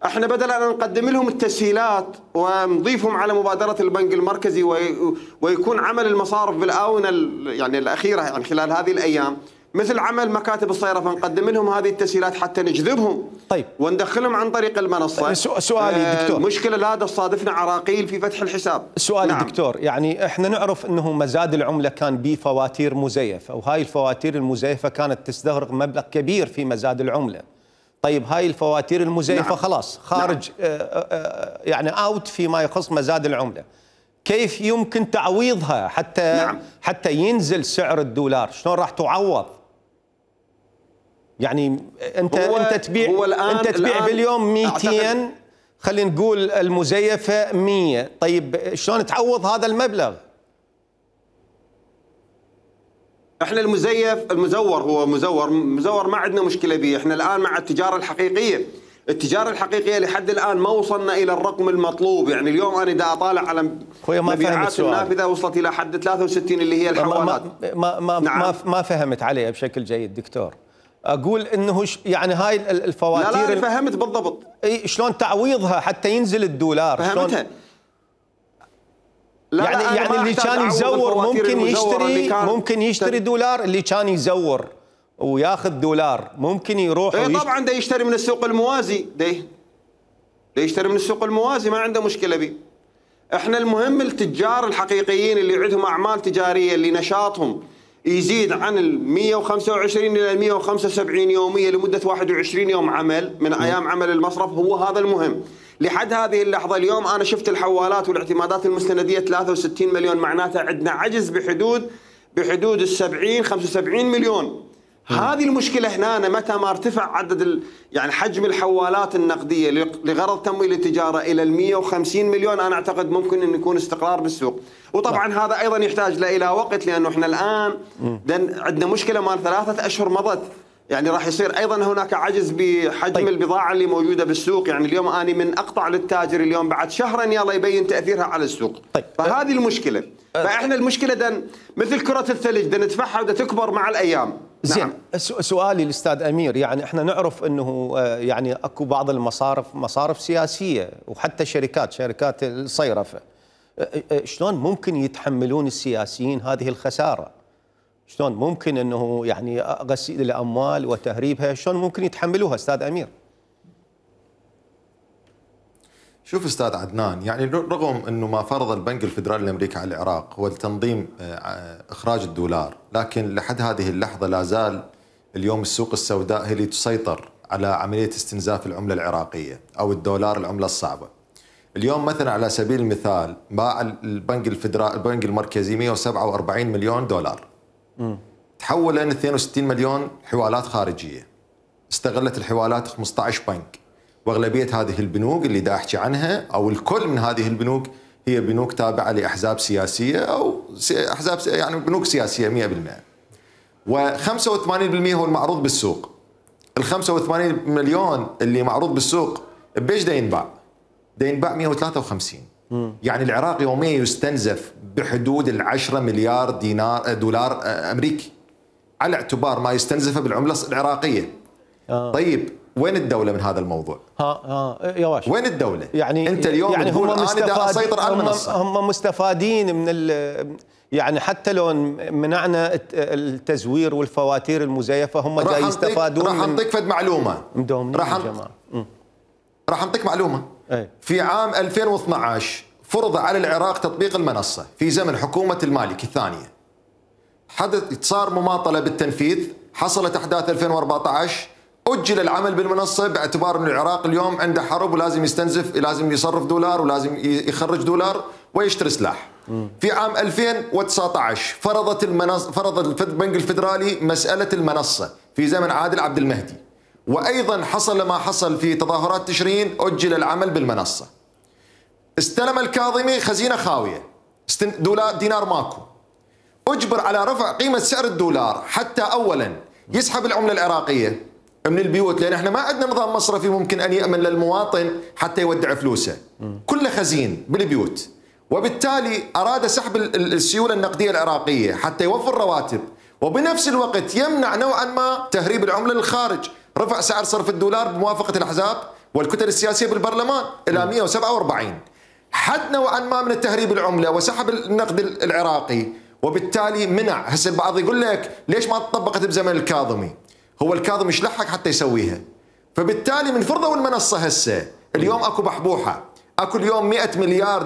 احنا بدل ان نقدم لهم التسهيلات ونضيفهم على مبادره البنك المركزي ويكون عمل المصارف بالاونه يعني الاخيره يعني خلال هذه الايام مثل عمل مكاتب الصيرفه، نقدم لهم هذه التسهيلات حتى نجذبهم. طيب وندخلهم عن طريق المنصه. سؤالي دكتور، مشكله لا تصادفنا عراقيل في فتح الحساب. سؤالي نعم. دكتور، يعني احنا نعرف انه مزاد العمله كان به فواتير مزيفه، وهاي الفواتير المزيفه كانت تستغرق مبلغ كبير في مزاد العمله. طيب هاي الفواتير المزيفة نعم. خلاص خارج نعم. يعني اوت فيما يخص مزاد العملة، كيف يمكن تعويضها حتى ينزل سعر الدولار؟ شلون راح تعوض؟ يعني انت تبيع باليوم 200، خلينا نقول المزيفة 100، طيب شلون تعوض هذا المبلغ؟ احنا المزور هو مزور ما عندنا مشكله به. احنا الان مع التجاره الحقيقيه لحد الان ما وصلنا الى الرقم المطلوب. يعني اليوم انا دا اطالع على مبيعات النافذه وصلت الى حد 63 اللي هي الحوالات. ما فهمت عليها بشكل جيد دكتور. اقول انه يعني هاي الفواتير لا فهمت بالضبط. اي شلون تعويضها حتى ينزل الدولار؟ فهمتها. يعني اللي كان يزور ممكن يشتري دولار، اللي كان يزور وياخذ دولار ممكن يروح طبعا دا يشتري من السوق الموازي، يشتري من السوق الموازي ما عنده مشكله به. احنا المهم التجار الحقيقيين اللي عندهم اعمال تجاريه اللي نشاطهم يزيد عن ال 125 الى ال 175 يوميه لمده 21 يوم عمل من ايام عمل المصرف، هو هذا المهم. لحد هذه اللحظه اليوم انا شفت الحوالات والاعتمادات المستنديه 63 مليون، معناتها عندنا عجز بحدود ال 70 75 مليون. هذه المشكله هنا، متى ما ارتفع عدد يعني حجم الحوالات النقديه لغرض تمويل التجاره الى ال 150 مليون، انا اعتقد ممكن ان يكون استقرار بالسوق. وطبعا هذا ايضا يحتاج الى وقت، لانه احنا الان عندنا مشكله مال 3 أشهر مضت، يعني راح يصير ايضا هناك عجز بحجم البضاعه اللي موجوده بالسوق. يعني اليوم اني من اقطع للتاجر اليوم بعد شهرين يلا يبين تاثيرها على السوق. فهذه المشكله. فاحنا المشكله مثل كره الثلج ندفعها تكبر مع الايام. زين. نعم. سؤالي الاستاذ امير، يعني احنا نعرف انه يعني اكو بعض مصارف سياسيه وحتى شركات الصيرفه، شلون ممكن يتحملون السياسيين هذه الخساره؟ شلون ممكن انه يعني غسيل الاموال وتهريبها شلون ممكن يتحملوها استاذ امير؟ شوف استاذ عدنان، يعني رغم انه ما فرض البنك الفدرالي الامريكي على العراق هو تنظيم اخراج الدولار، لكن لحد هذه اللحظه لا زال اليوم السوق السوداء هي اللي تسيطر على عمليه استنزاف العمله العراقيه او الدولار، العمله الصعبه. اليوم مثلا على سبيل المثال باع البنك المركزي 147 مليون دولار، تحول لان 62 مليون حوالات خارجيه. استغلت الحوالات 15 بنك، واغلبيه هذه البنوك اللي دا احكي عنها او الكل من هذه البنوك هي بنوك تابعه لاحزاب سياسيه او احزاب يعني بنوك سياسيه 100%. و85% هو المعروض بالسوق. ال 85 مليون اللي معروض بالسوق بيش دا ينباع؟ دا ينباع 153. يعني العراق يوميا يستنزف بحدود 10 مليار دولار امريكي، على اعتبار ما يستنزفه بالعمله العراقيه. طيب وين الدوله من هذا الموضوع؟ يا واش وين الدوله؟ يعني انت اليوم يعني تقول انا دا اسيطر على المنصه. هم مستفادين من يعني حتى لو منعنا التزوير والفواتير المزيفه هم جاي يستفادون. راح انطيك فد معلومه. راح انطيك معلومه. في عام 2012 فرض على العراق تطبيق المنصه في زمن حكومه المالكي الثانيه. صار مماطله بالتنفيذ، حصلت احداث 2014 أجل العمل بالمنصة باعتبار أن العراق اليوم عنده حرب ولازم يستنزف، لازم يصرف دولار ولازم يخرج دولار ويشتري سلاح. في عام 2019 فرض البنك الفدرالي مسألة المنصة في زمن عادل عبد المهدي، وأيضا حصل ما حصل في تظاهرات تشرين، أجل العمل بالمنصة. استلم الكاظمي خزينة خاوية، دينار ماكو، أجبر على رفع قيمة سعر الدولار حتى أولا يسحب العملة العراقية من البيوت، لان احنا ما عندنا نظام مصرفي ممكن ان يامن للمواطن حتى يودع فلوسه، كله خزين بالبيوت. وبالتالي اراد سحب السيوله النقديه العراقيه حتى يوفر رواتب، وبنفس الوقت يمنع نوعا ما تهريب العمله للخارج. رفع سعر صرف الدولار بموافقه الاحزاب والكتل السياسيه بالبرلمان الى 147، حد نوعا ما من التهريب العمله وسحب النقد العراقي. وبالتالي منع. هسه البعض يقول لك ليش ما طبقت بزمن الكاظمي؟ هو الكاظمي ايش لحق حتى يسويها؟ فبالتالي من فرضوا المنصه هسه اليوم اكو بحبوحه، اكو اليوم 100 مليار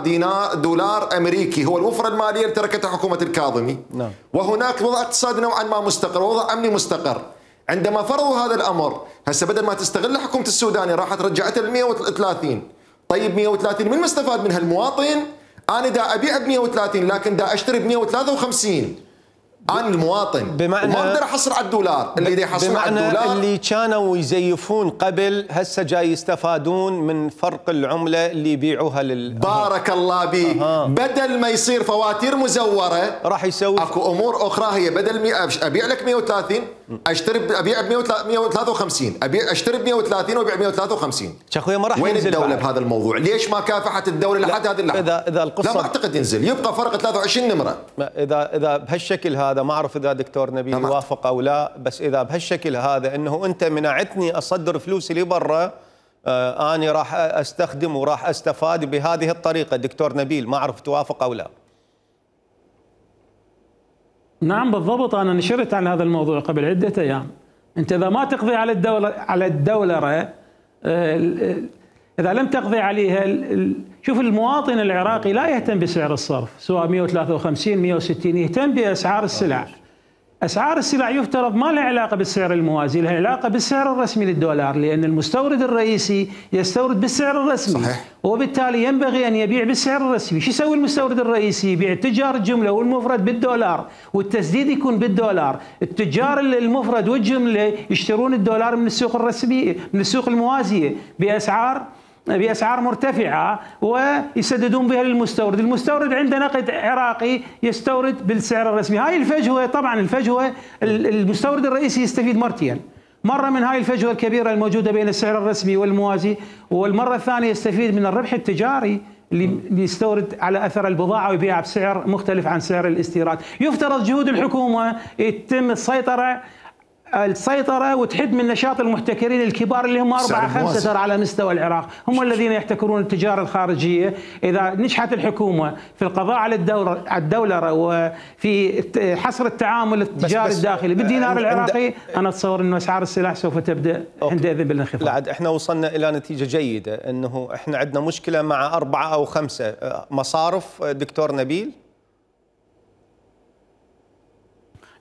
دولار امريكي هو الوفره الماليه اللي تركتها حكومه الكاظمي. نعم. وهناك وضع اقتصادي نوعا ما مستقر ووضع امني مستقر. عندما فرضوا هذا الامر هسه بدل ما تستغل حكومه السوداني راحت رجعتها ل 130. طيب 130 من مستفاد منها؟ المواطن. انا دا ابيع ب 130 لكن دا اشتري ب 153. أنا المواطن بمعنى ما اقدر احصل على الدولار اللي دي يحصلون على الدولار. بمعنى اللي كانوا يزيفون قبل هسه جاي يستفادون من فرق العمله اللي يبيعوها بارك الله بيك. بدل ما يصير فواتير مزوره راح يسوي اكو امور اخرى. هي بدل ابيع لك 130 اشتري ابيع ب 153 اشتري ب 130 وابيع ب 153. اخوي ما راح وين ينزل الدوله بعد بهذا الموضوع؟ ليش ما كافحت الدوله لحد هذه اللحظه؟ اذا القصه لا ما اعتقد ينزل، يبقى فرق 23 نمره. اذا بهالشكل هذا ما اعرف اذا دكتور نبيل يوافق او لا، بس اذا بهالشكل هذا انه انت منعتني اصدر فلوسي لبرا، اني راح استخدم وراح استفاد بهذه الطريقه. دكتور نبيل ما اعرف توافق او لا. نعم بالضبط، انا نشرت عن هذا الموضوع قبل عده ايام. انت اذا ما تقضي على الدولره اذا لم تقضي عليها شوف المواطن العراقي لا يهتم بسعر الصرف سواء 153 160 يهتم باسعار السلع. اسعار السلع يفترض ما لها علاقه بالسعر الموازي، لها علاقه بالسعر الرسمي للدولار، لان المستورد الرئيسي يستورد بالسعر الرسمي. صحيح. وبالتالي ينبغي ان يبيع بالسعر الرسمي. شو يسوي المستورد الرئيسي؟ يبيع التجار الجمله والمفرد بالدولار والتسديد يكون بالدولار. التجار المفرد والجمله يشترون الدولار من السوق الرسميه من السوق الموازيه بأسعار مرتفعة ويسددون بها للمستورد. المستورد عنده نقد عراقي يستورد بالسعر الرسمي. هاي الفجوة، طبعا الفجوة المستورد الرئيسي يستفيد مرتين، مرة من هاي الفجوة الكبيرة الموجودة بين السعر الرسمي والموازي، والمرة الثانية يستفيد من الربح التجاري اللي يستورد على أثر البضاعة ويبيعها بسعر مختلف عن سعر الاستيراد. يفترض جهود الحكومة يتم السيطرة وتحد من نشاط المحتكرين الكبار اللي هم 4-5 ترى على مستوى العراق، هم الذين يحتكرون التجارة الخارجية. إذا نجحت الحكومة في القضاء على الدولرة وفي حصر التعامل التجاري الداخلي بالدينار العراقي، أنا أتصور أن أسعار السلاح سوف تبدأ عندئذ بالانخفاض. لا عاد احنا وصلنا إلى نتيجة جيدة، أنه احنا عندنا مشكلة مع 4 أو 5 مصارف دكتور نبيل.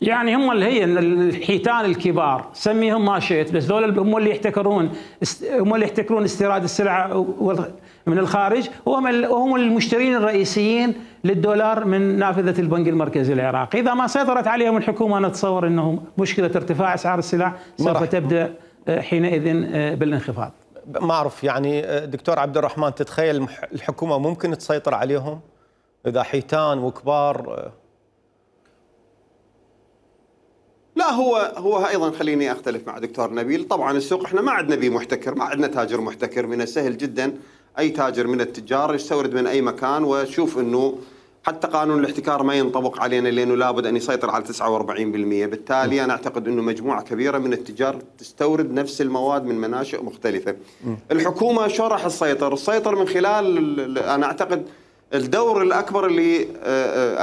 يعني هم اللي هي الحيتان الكبار سميهم ما شئت، بس دول هم اللي يحتكرون استيراد السلع من الخارج، وهم المشترين الرئيسيين للدولار من نافذة البنك المركزي العراقي. إذا ما سيطرت عليهم الحكومة نتصور أنه مشكلة ارتفاع أسعار السلع سوف تبدأ حينئذ بالانخفاض. ما أعرف يعني دكتور عبد الرحمن، تتخيل الحكومة ممكن تسيطر عليهم إذا حيتان وكبار؟ لا هو ايضا خليني اختلف مع دكتور نبيل. طبعا السوق احنا ما عندنا بيه محتكر، ما عندنا تاجر محتكر. من السهل جدا اي تاجر من التجار يستورد من اي مكان، وشوف انه حتى قانون الاحتكار ما ينطبق علينا لانه لابد ان يسيطر على 49%. بالتالي انا اعتقد انه مجموعه كبيره من التجار تستورد نفس المواد من مناشئ مختلفه. الحكومه شو راح تسيطر من خلال انا اعتقد الدور الأكبر اللي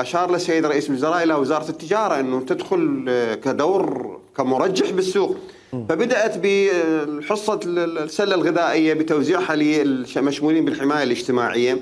أشار له السيد رئيس الوزراء إلى وزارة التجارة، أنه تدخل كدور كمرجح بالسوق. فبدأت بحصة السلة الغذائية بتوزيعها للمشمولين بالحماية الاجتماعية.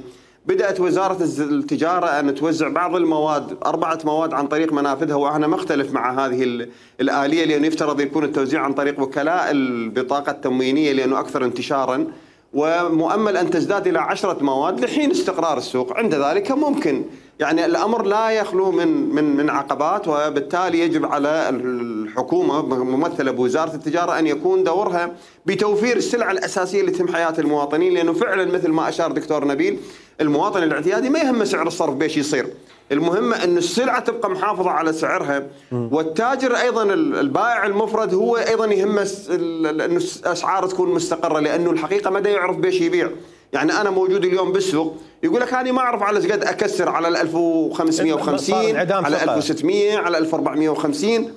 بدأت وزارة التجارة أن توزع بعض المواد 4 مواد عن طريق منافذها، وأنا مختلف مع هذه الآلية لأنه يفترض يكون التوزيع عن طريق وكلاء البطاقة التموينية لأنه أكثر انتشاراً، ومؤمل أن تزداد إلى 10 مواد لحين استقرار السوق. عند ذلك ممكن يعني الأمر لا يخلو من عقبات، وبالتالي يجب على الحكومة ممثلة بوزارة التجارة أن يكون دورها بتوفير السلع الأساسية اللي تهم حياة المواطنين. لأنه فعلا مثل ما أشار دكتور نبيل، المواطن الاعتيادي ما يهم سعر الصرف بيش يصير، المهم أن السلعة تبقى محافظة على سعرها. والتاجر أيضا البائع المفرد هو أيضا يهمه أن الأسعار تكون مستقرة، لأنه الحقيقة ما دا يعرف بيش يبيع. يعني أنا موجود اليوم بالسوق يقول لك أنا ما أعرف على قد أكسر على 1550 على 1600 على 1450.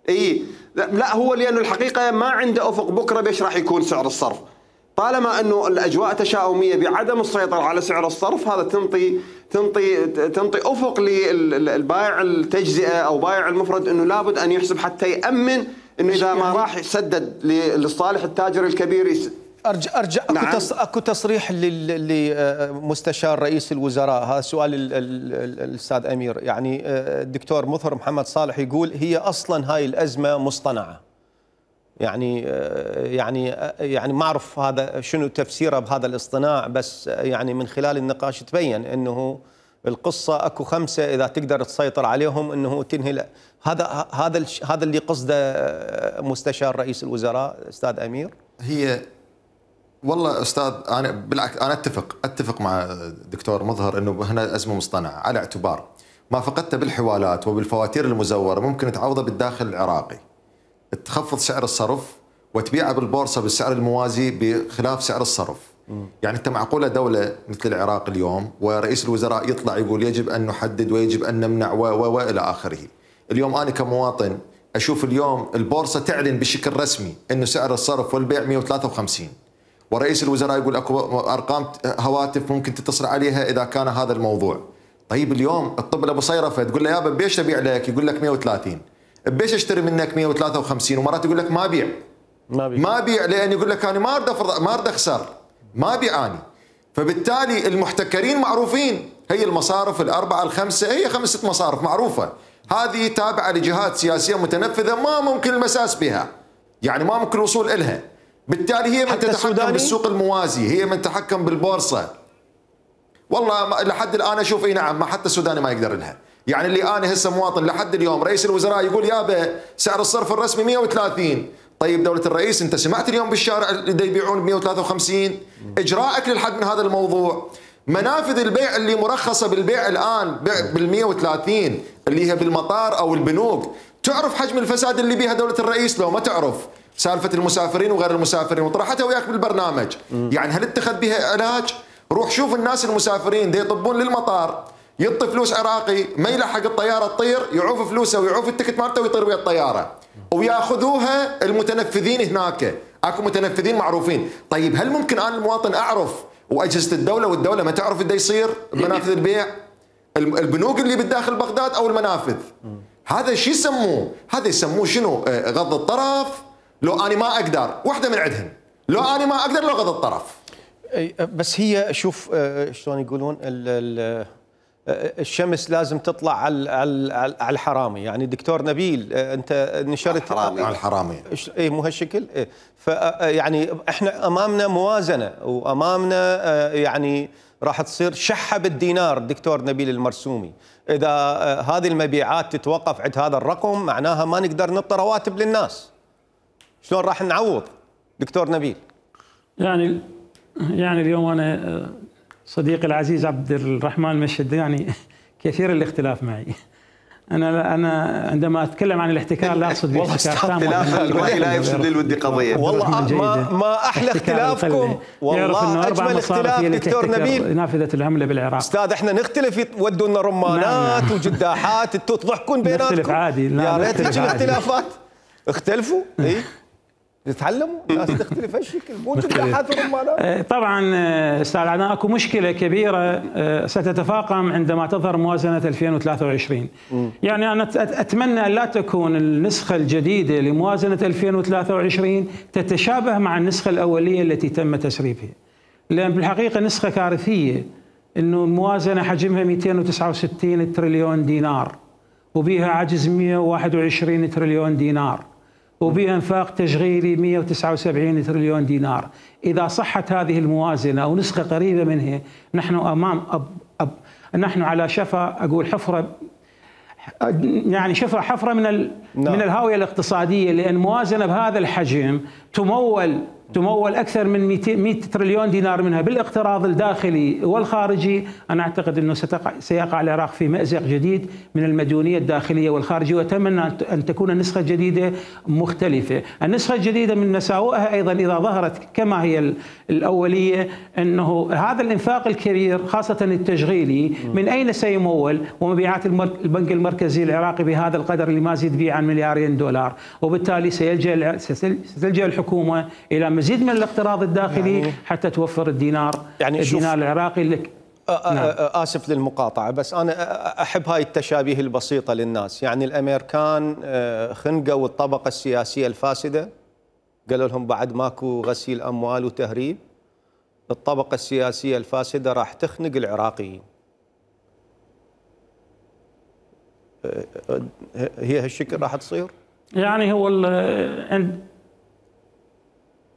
إيه لا هو لأنه الحقيقة ما عنده أفق بكرة بيش راح يكون سعر الصرف. طالما أنه الأجواء تشاؤمية بعدم السيطرة على سعر الصرف، هذا تنطي أفق للبائع التجزئة أو بائع المفرد أنه لابد أن يحسب حتى يأمن أنه إذا ما راح يسدد لصالح التاجر الكبير. أرجع نعم. أكو تصريح لمستشار رئيس الوزراء، هذا سؤال الأستاذ أمير. يعني الدكتور مظهر محمد صالح يقول هي أصلا هاي الأزمة مصطنعة. يعني ما أعرف هذا شنو تفسيره بهذا الاصطناع، بس يعني من خلال النقاش تبين أنه القصة أكو 5 إذا تقدر تسيطر عليهم أنه تنهي. هذا اللي قصده مستشار رئيس الوزراء أستاذ أمير. هي والله أستاذ أنا بالعكس أنا أتفق مع الدكتور مظهر أنه هنا أزمة مصطنعة، على اعتبار ما فقدته بالحوالات وبالفواتير المزورة ممكن تعوضه بالداخل العراقي. تخفض سعر الصرف وتبيعه بالبورصة بالسعر الموازي بخلاف سعر الصرف. يعني أنت معقولة دولة مثل العراق اليوم ورئيس الوزراء يطلع يقول يجب أن نحدد ويجب أن نمنع وإلى آخره. اليوم أنا كمواطن أشوف اليوم البورصة تعلن بشكل رسمي أنه سعر الصرف والبيع 153، ورئيس الوزراء يقول أكو أرقام هواتف ممكن تتصل عليها إذا كان هذا الموضوع. طيب اليوم الطب أبو صيرفة تقول له يابا بيش أبيع لك، يقول لك 130. بيش اشتري منك 153، ومرات يقول لك ما بيع لان يقول لك انا ما اريد اخسر. ما بيعاني. فبالتالي المحتكرين معروفين، هي المصارف الأربعة الخمسة، هي 5 مصارف معروفة، هذه تابعة لجهات سياسية متنفذة ما ممكن المساس بها، يعني ما ممكن الوصول إلها. بالتالي هي من تتحكم بالسوق الموازي، هي من تتحكم بالبورصة. والله لحد الآن أشوف اي نعم، ما حتى السوداني ما يقدر لها. يعني اللي أنا هسه مواطن لحد اليوم رئيس الوزراء يقول يابا سعر الصرف الرسمي 130. طيب دولة الرئيس أنت سمعت اليوم بالشارع اللي يبيعون ب 153؟ إجراءك للحد من هذا الموضوع. منافذ البيع اللي مرخصة بالبيع الآن بال 130 اللي هي بالمطار أو البنوك، تعرف حجم الفساد اللي بيها دولة الرئيس؟ لو ما تعرف سالفة المسافرين وغير المسافرين وطرحتها وياك بالبرنامج، يعني هل اتخذ بها علاج؟ روح شوف الناس المسافرين دي يطبون للمطار، يعطي فلوس عراقي، ما يلحق الطيارة تطير يعوف فلوسه ويعوف التكت مالته ويطير ويا الطيارة، وياخذوها المتنفذين هناك، اكو متنفذين معروفين. طيب هل ممكن انا المواطن اعرف واجهزة الدولة والدولة ما تعرف ايش يصير بمنافذ البيع؟ البنوك اللي بالداخل بغداد او المنافذ، هذا شو يسموه؟ هذا يسموه شنو؟ غض الطرف. لو انا ما اقدر واحدة من عندهن، لو انا ما اقدر لو غض الطرف. بس هي شوف شلون يقولون الشمس لازم تطلع على الحرامي. يعني دكتور نبيل انت نشرت على الحرامي اي مو هالشكل. فيعني احنا امامنا موازنه وامامنا يعني راح تصير شحه بالدينار دكتور نبيل المرسومي. اذا هذه المبيعات تتوقف عند هذا الرقم معناها ما نقدر نعطي رواتب للناس. شلون راح نعوض دكتور نبيل؟ يعني اليوم انا صديقي العزيز عبد الرحمن المشهداني كثير الاختلاف معي. انا عندما اتكلم عن الاحتكار لا اقصد بالاحتكار تام، لا يفسد للودي قضيه. والله ما احلى اختلافكم، والله اجمل اختلاف دكتور نبيل. نافذه العمله بالعراق استاذ احنا نختلف يودوا لنا رمانات نعم. وجداحات انتم تضحكون بيناتكم. نختلف عادي، يا ريت هيك الاختلافات. اختلفوا اي تتعلموا الناس تختلف هالشكل، مو جداحات ورمانات. طبعا استاذ عدنان اكو مشكله كبيره ستتفاقم عندما تظهر موازنه 2023. يعني انا اتمنى ان لا تكون النسخه الجديده لموازنه 2023 تتشابه مع النسخه الاوليه التي تم تسريبها، لان بالحقيقه نسخه كارثيه. انه الموازنه حجمها 269 تريليون دينار وبها عجز 121 تريليون دينار وبها انفاق تشغيلي 179 تريليون دينار. إذا صحت هذه الموازنة أو نسخة قريبة منها نحن أمام نحن على شفا أقول حفرة، يعني حفرة من الهاوية الاقتصادية، لأن موازنة بهذا الحجم تمول أكثر من 100 تريليون دينار منها بالاقتراض الداخلي والخارجي. أنا أعتقد أنه سيقع العراق في مأزق جديد من المديونية الداخلية والخارجية، وأتمنى أن تكون النسخة الجديدة مختلفة. النسخة الجديدة من مساوئها أيضا إذا ظهرت كما هي الأولية أنه هذا الإنفاق الكبير خاصة التشغيلي من أين سيمول؟ ومبيعات البنك المركزي العراقي بهذا القدر اللي ما يزيد به عن $2 وبالتالي ستلجأ الحكومة إلى مزيد من الاقتراض الداخلي حتى توفر الدينار العراقي لك. آسف للمقاطعة، بس أنا أحب هاي التشابيه البسيطة للناس. يعني الأمريكان خنقوا الطبقة السياسية الفاسدة، قالوا لهم بعد ماكو غسيل أموال وتهريب، الطبقة السياسية الفاسدة راح تخنق العراقيين. هي هالشكل راح تصير؟ يعني هو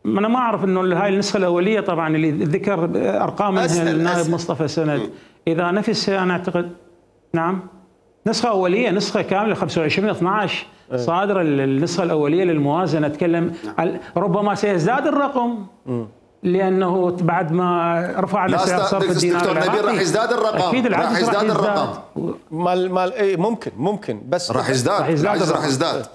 أنا ما أعرف أنه هاي النسخة الأولية طبعا اللي ذكر أرقام منها النائب مصطفى سند، إذا نفسها أنا أعتقد نعم نسخة أولية، نسخة كاملة 25/12 صادرة النسخة الأولية للموازنة. أتكلم ربما سيزداد الرقم لأنه بعد ما رفعنا سعر صرف الدينار العراقي راح يزداد الرقم، أكيد راح يزداد الرقم مال ممكن بس راح يزداد.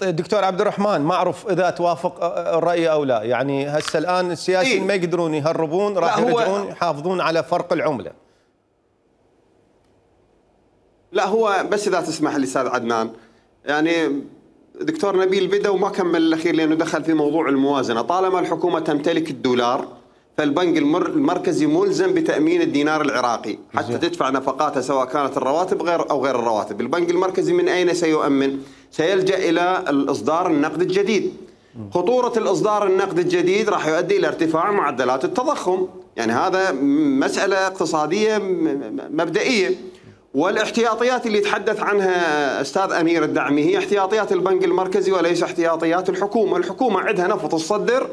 دكتور عبد الرحمن ما أعرف إذا توافق الرأي أو لا. يعني هسه الآن السياسيين ما يقدرون يهربون، راح يرجعون يحافظون على فرق العملة. لا هو بس إذا تسمح لي أستاذ عدنان، يعني دكتور نبيل بدأ وما كمل الأخير لأنه دخل في موضوع الموازنة. طالما الحكومة تمتلك الدولار فالبنك المركزي ملزم بتأمين الدينار العراقي حتى تدفع نفقاتها سواء كانت الرواتب أو غير الرواتب. البنك المركزي من أين سيؤمن؟ سيلجأ إلى الإصدار النقد الجديد. خطورة الإصدار النقد الجديد راح يؤدي إلى ارتفاع معدلات التضخم، يعني هذا مسألة اقتصادية مبدئية. والاحتياطيات اللي يتحدث عنها أستاذ أمير الدعمي هي احتياطيات البنك المركزي وليس احتياطيات الحكومة. الحكومة عندها نفط تصدر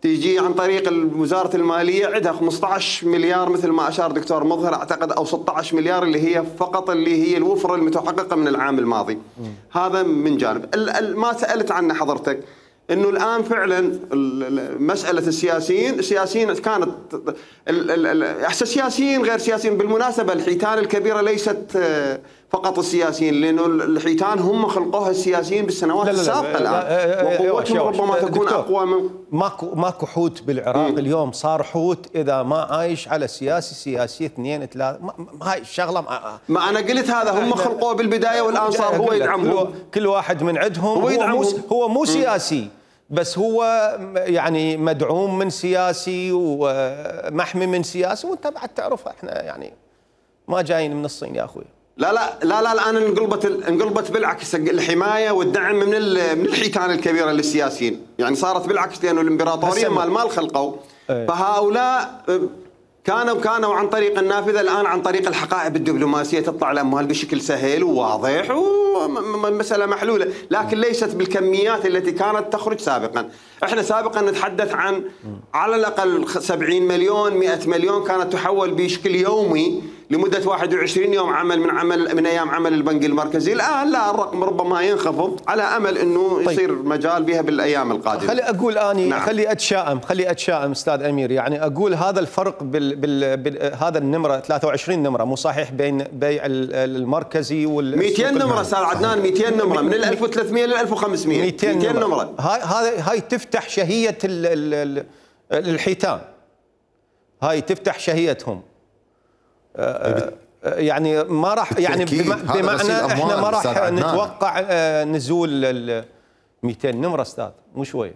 تيجي عن طريق وزارة المالية، عندها 15 مليار مثل ما أشار دكتور مظهر أعتقد، أو 16 مليار اللي هي فقط اللي هي الوفرة المتحققة من العام الماضي. هذا من جانب. ما سألت عنه حضرتك انه الان فعلا مساله السياسيين كانت سياسيين غير سياسيين. بالمناسبه الحيتان الكبيره ليست فقط السياسيين، لانه الحيتان هم خلقوها السياسيين بالسنوات السابقه الان، وقوتهم ربما تكون اقوى من ماكو حوت بالعراق اليوم صار حوت اذا ما عايش على سياسي 2 3. هاي الشغله ما انا قلت هذا هم خلقوه بالبدايه والان صار هو يدعمهم. كل واحد من عندهم هو مو سياسي، بس هو يعني مدعوم من سياسي ومحمي من سياسي، وانت بعد تعرفها. احنا يعني ما جايين من الصين يا اخوي. لا الان انقلبت بالعكس، الحمايه والدعم من الحيتان الكبيره للسياسيين، يعني صارت بالعكس، لانه الامبراطوريه مال خلقوا. فهؤلاء كانوا عن طريق النافذه، الان عن طريق الحقائب الدبلوماسيه تطلع الاموال بشكل سهل وواضح ومساله محلوله، لكن ليست بالكميات التي كانت تخرج سابقا. احنا سابقا نتحدث عن على الاقل 70 مليون 100 مليون كانت تحول بشكل يومي لمده 21 يوم من ايام عمل البنك المركزي. الان لا، الرقم ربما ينخفض على امل انه يصير مجال بها بالايام القادمه. خلي اقول اني نعم. خلي اتشائم استاذ امير، يعني اقول هذا الفرق هذا النمره 23 نمره مو صحيح بين بيع المركزي وال 200 نمره استاذ عدنان، 200 نمره من 1300 ل 1500 200 نمره. هاي تفتح شهيه الحيتان، هاي تفتح شهيتهم. يعني ما راح، يعني بمعنى احنا ما راح نتوقع نزول 200 نمره استاذ، مو شويه.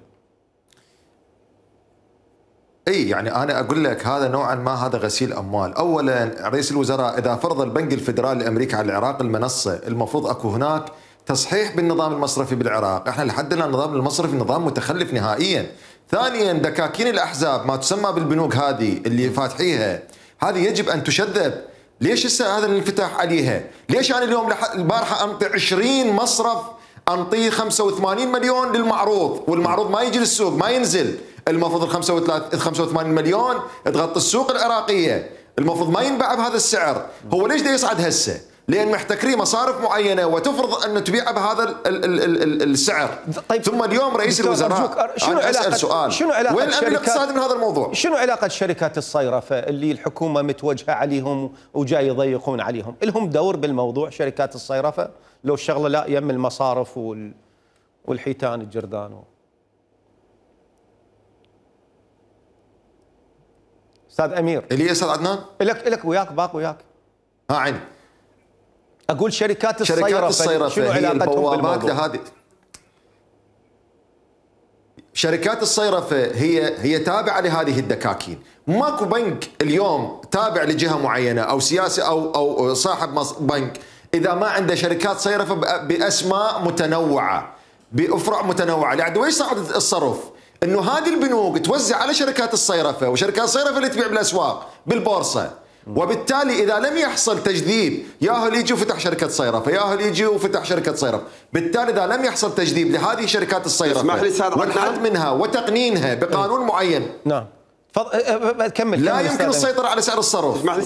اي يعني انا اقول لك هذا نوعا ما هذا غسيل اموال. اولا رئيس الوزراء اذا فرض البنك الفدرالي الامريكي على العراق المنصه، المفروض اكو هناك تصحيح بالنظام المصرفي بالعراق. احنا لحد الان النظام المصرفي نظام متخلف نهائيا. ثانيا دكاكين الاحزاب ما تسمى بالبنوك هذه اللي فاتحيها، هذه يجب ان تشذب. ليش هسه هذا الانفتاح عليها؟ ليش انا اليوم البارحه انطي 20 مصرف انطيه 85 مليون للمعروض، والمعروض ما يجي للسوق ما ينزل؟ المفروض ال 85 مليون تغطي السوق العراقيه، المفروض ما ينباع بهذا السعر. هو ليش دا يصعد هسه؟ لان محتكرين مصارف معينه وتفرض انه تبيعها بهذا السعر. طيب ثم اليوم رئيس الوزراء انا اسال سؤال، وين الامن الاقتصادي من هذا الموضوع؟ شنو علاقه شركات الصيرفه اللي الحكومه متوجهه عليهم وجاي يضيقون عليهم؟ لهم دور بالموضوع شركات الصيرفه؟ لو الشغله لا يم المصارف والحيتان الجردان استاذ امير. اللي استاذ عدنان؟ لك وياك باق وياك. عيني. اقول شركات الصيرفه شنو هي علاقتهم بالموضوع؟ هذه شركات الصيرفه هي تابعه لهذه الدكاكين. ماكو بنك اليوم تابع لجهه معينه او سياسي او صاحب بنك اذا ما عنده شركات صيرفه باسماء متنوعه بافرع متنوعه. يعني وين صعد الصرف؟ انه هذه البنوك توزع على شركات الصيرفه، وشركات الصيرفه اللي تبيع بالاسواق بالبورصه. وبالتالي اذا لم يحصل تجذيب، ياهو اللي يجي وفتح شركه صيرفه، ياهو اللي يجي وفتح شركه صيرفه، بالتالي اذا لم يحصل تجذيب لهذه شركات الصيرفه والحد منها وتقنينها بقانون معين، نعم كمل لا يمكن السيطره على سعر الصرف. اسمح لي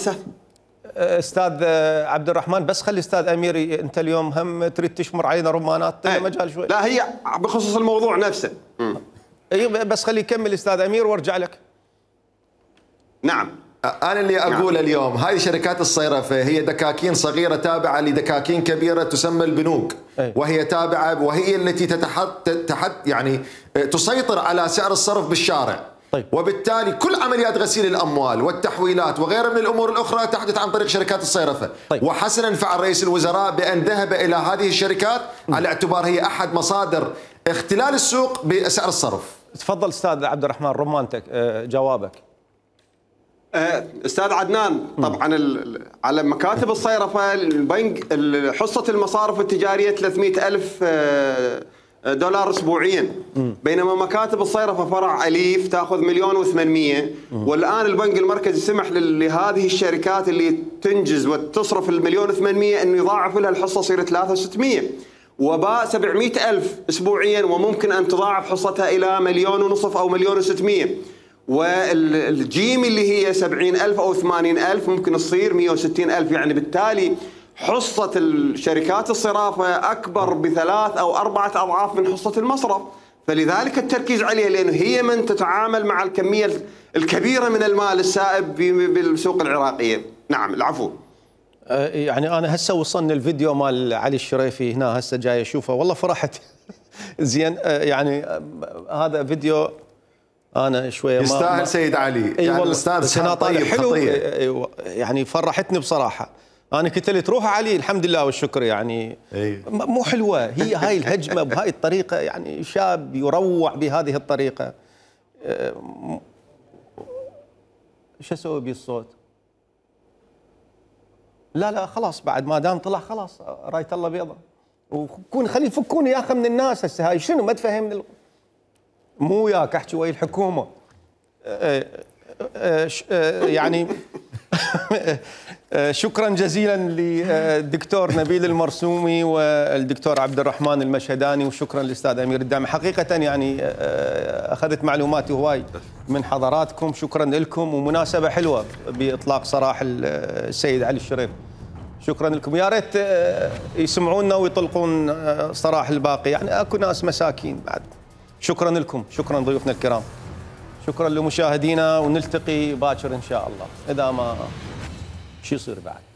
استاذ عبد الرحمن، بس خلي استاذ امير، انت اليوم هم تريد تشمر علينا رمانات مجال شوي. لا هي بخصوص الموضوع نفسه. اي بس خلي يكمل استاذ امير وارجع لك. نعم. أنا اللي أقول اليوم هاي شركات الصيرفة هي دكاكين صغيرة تابعة لدكاكين كبيرة تسمى البنوك، وهي تابعة وهي التي يعني تسيطر على سعر الصرف بالشارع. طيب. وبالتالي كل عمليات غسيل الأموال والتحويلات وغيرها من الأمور الأخرى تحدث عن طريق شركات الصيرفة. طيب. وحسنا فعل رئيس الوزراء بأن ذهب إلى هذه الشركات على اعتبار هي أحد مصادر اختلال السوق بسعر الصرف. تفضل استاذ عبد الرحمن رمانتك جوابك. استاذ عدنان، طبعا على مكاتب الصيرفه البنك حصه المصارف التجاريه 300,000 دولار اسبوعيا، بينما مكاتب الصيرفه فرع اليف تاخذ 1,800,000، والان البنك المركزي سمح لهذه الشركات اللي تنجز وتصرف 1,800,000 انه يضاعف لها الحصه تصير 3,600,000، وباء 700,000 اسبوعيا، وممكن ان تضاعف حصتها الى 1,500,000 او 1,600,000. والجيم اللي هي 70,000 او 80,000 ممكن تصير 160,000. يعني بالتالي حصة الشركات الصرافة أكبر ب3 أو 4 أضعاف من حصة المصرف، فلذلك التركيز عليها، لأنه هي من تتعامل مع الكمية الكبيرة من المال السائب بالسوق العراقية. نعم العفو. يعني أنا هسه وصلني الفيديو مال علي الشريفي هنا، هسه جاي أشوفه، والله فرحت. زين يعني هذا فيديو أنا شوية يستاهل سيد علي. يعني الأستاذ سنة طيب حلو يعني فرحتني بصراحة. أنا قلت له تروح علي، الحمد لله والشكر يعني. مو حلوة هي هاي الهجمة بهاي الطريقة، يعني شاب يروع بهذه الطريقة. شو أسوي بالصوت؟ لا خلاص، بعد ما دام طلع خلاص راية الله بيضة. وكون خلي يفكوني يا أخي من الناس هسه، هاي شنو ما تفهمني؟ مو وياك أحكي ويا الحكومة. يعني شكرا جزيلا للدكتور نبيل المرسومي والدكتور عبد الرحمن المشهداني، وشكرا للاستاذ امير الدامي. حقيقه يعني اخذت معلومات هواي من حضراتكم، شكرا لكم، ومناسبه حلوه باطلاق سراح السيد علي الشريف. شكرا لكم، يا ريت يسمعونا ويطلقون سراح الباقي، يعني اكو ناس مساكين بعد. شكرا لكم، شكرا ضيوفنا الكرام، شكرا لمشاهدينا، ونلتقي باكر ان شاء الله، اذا ما شو يصير بعد.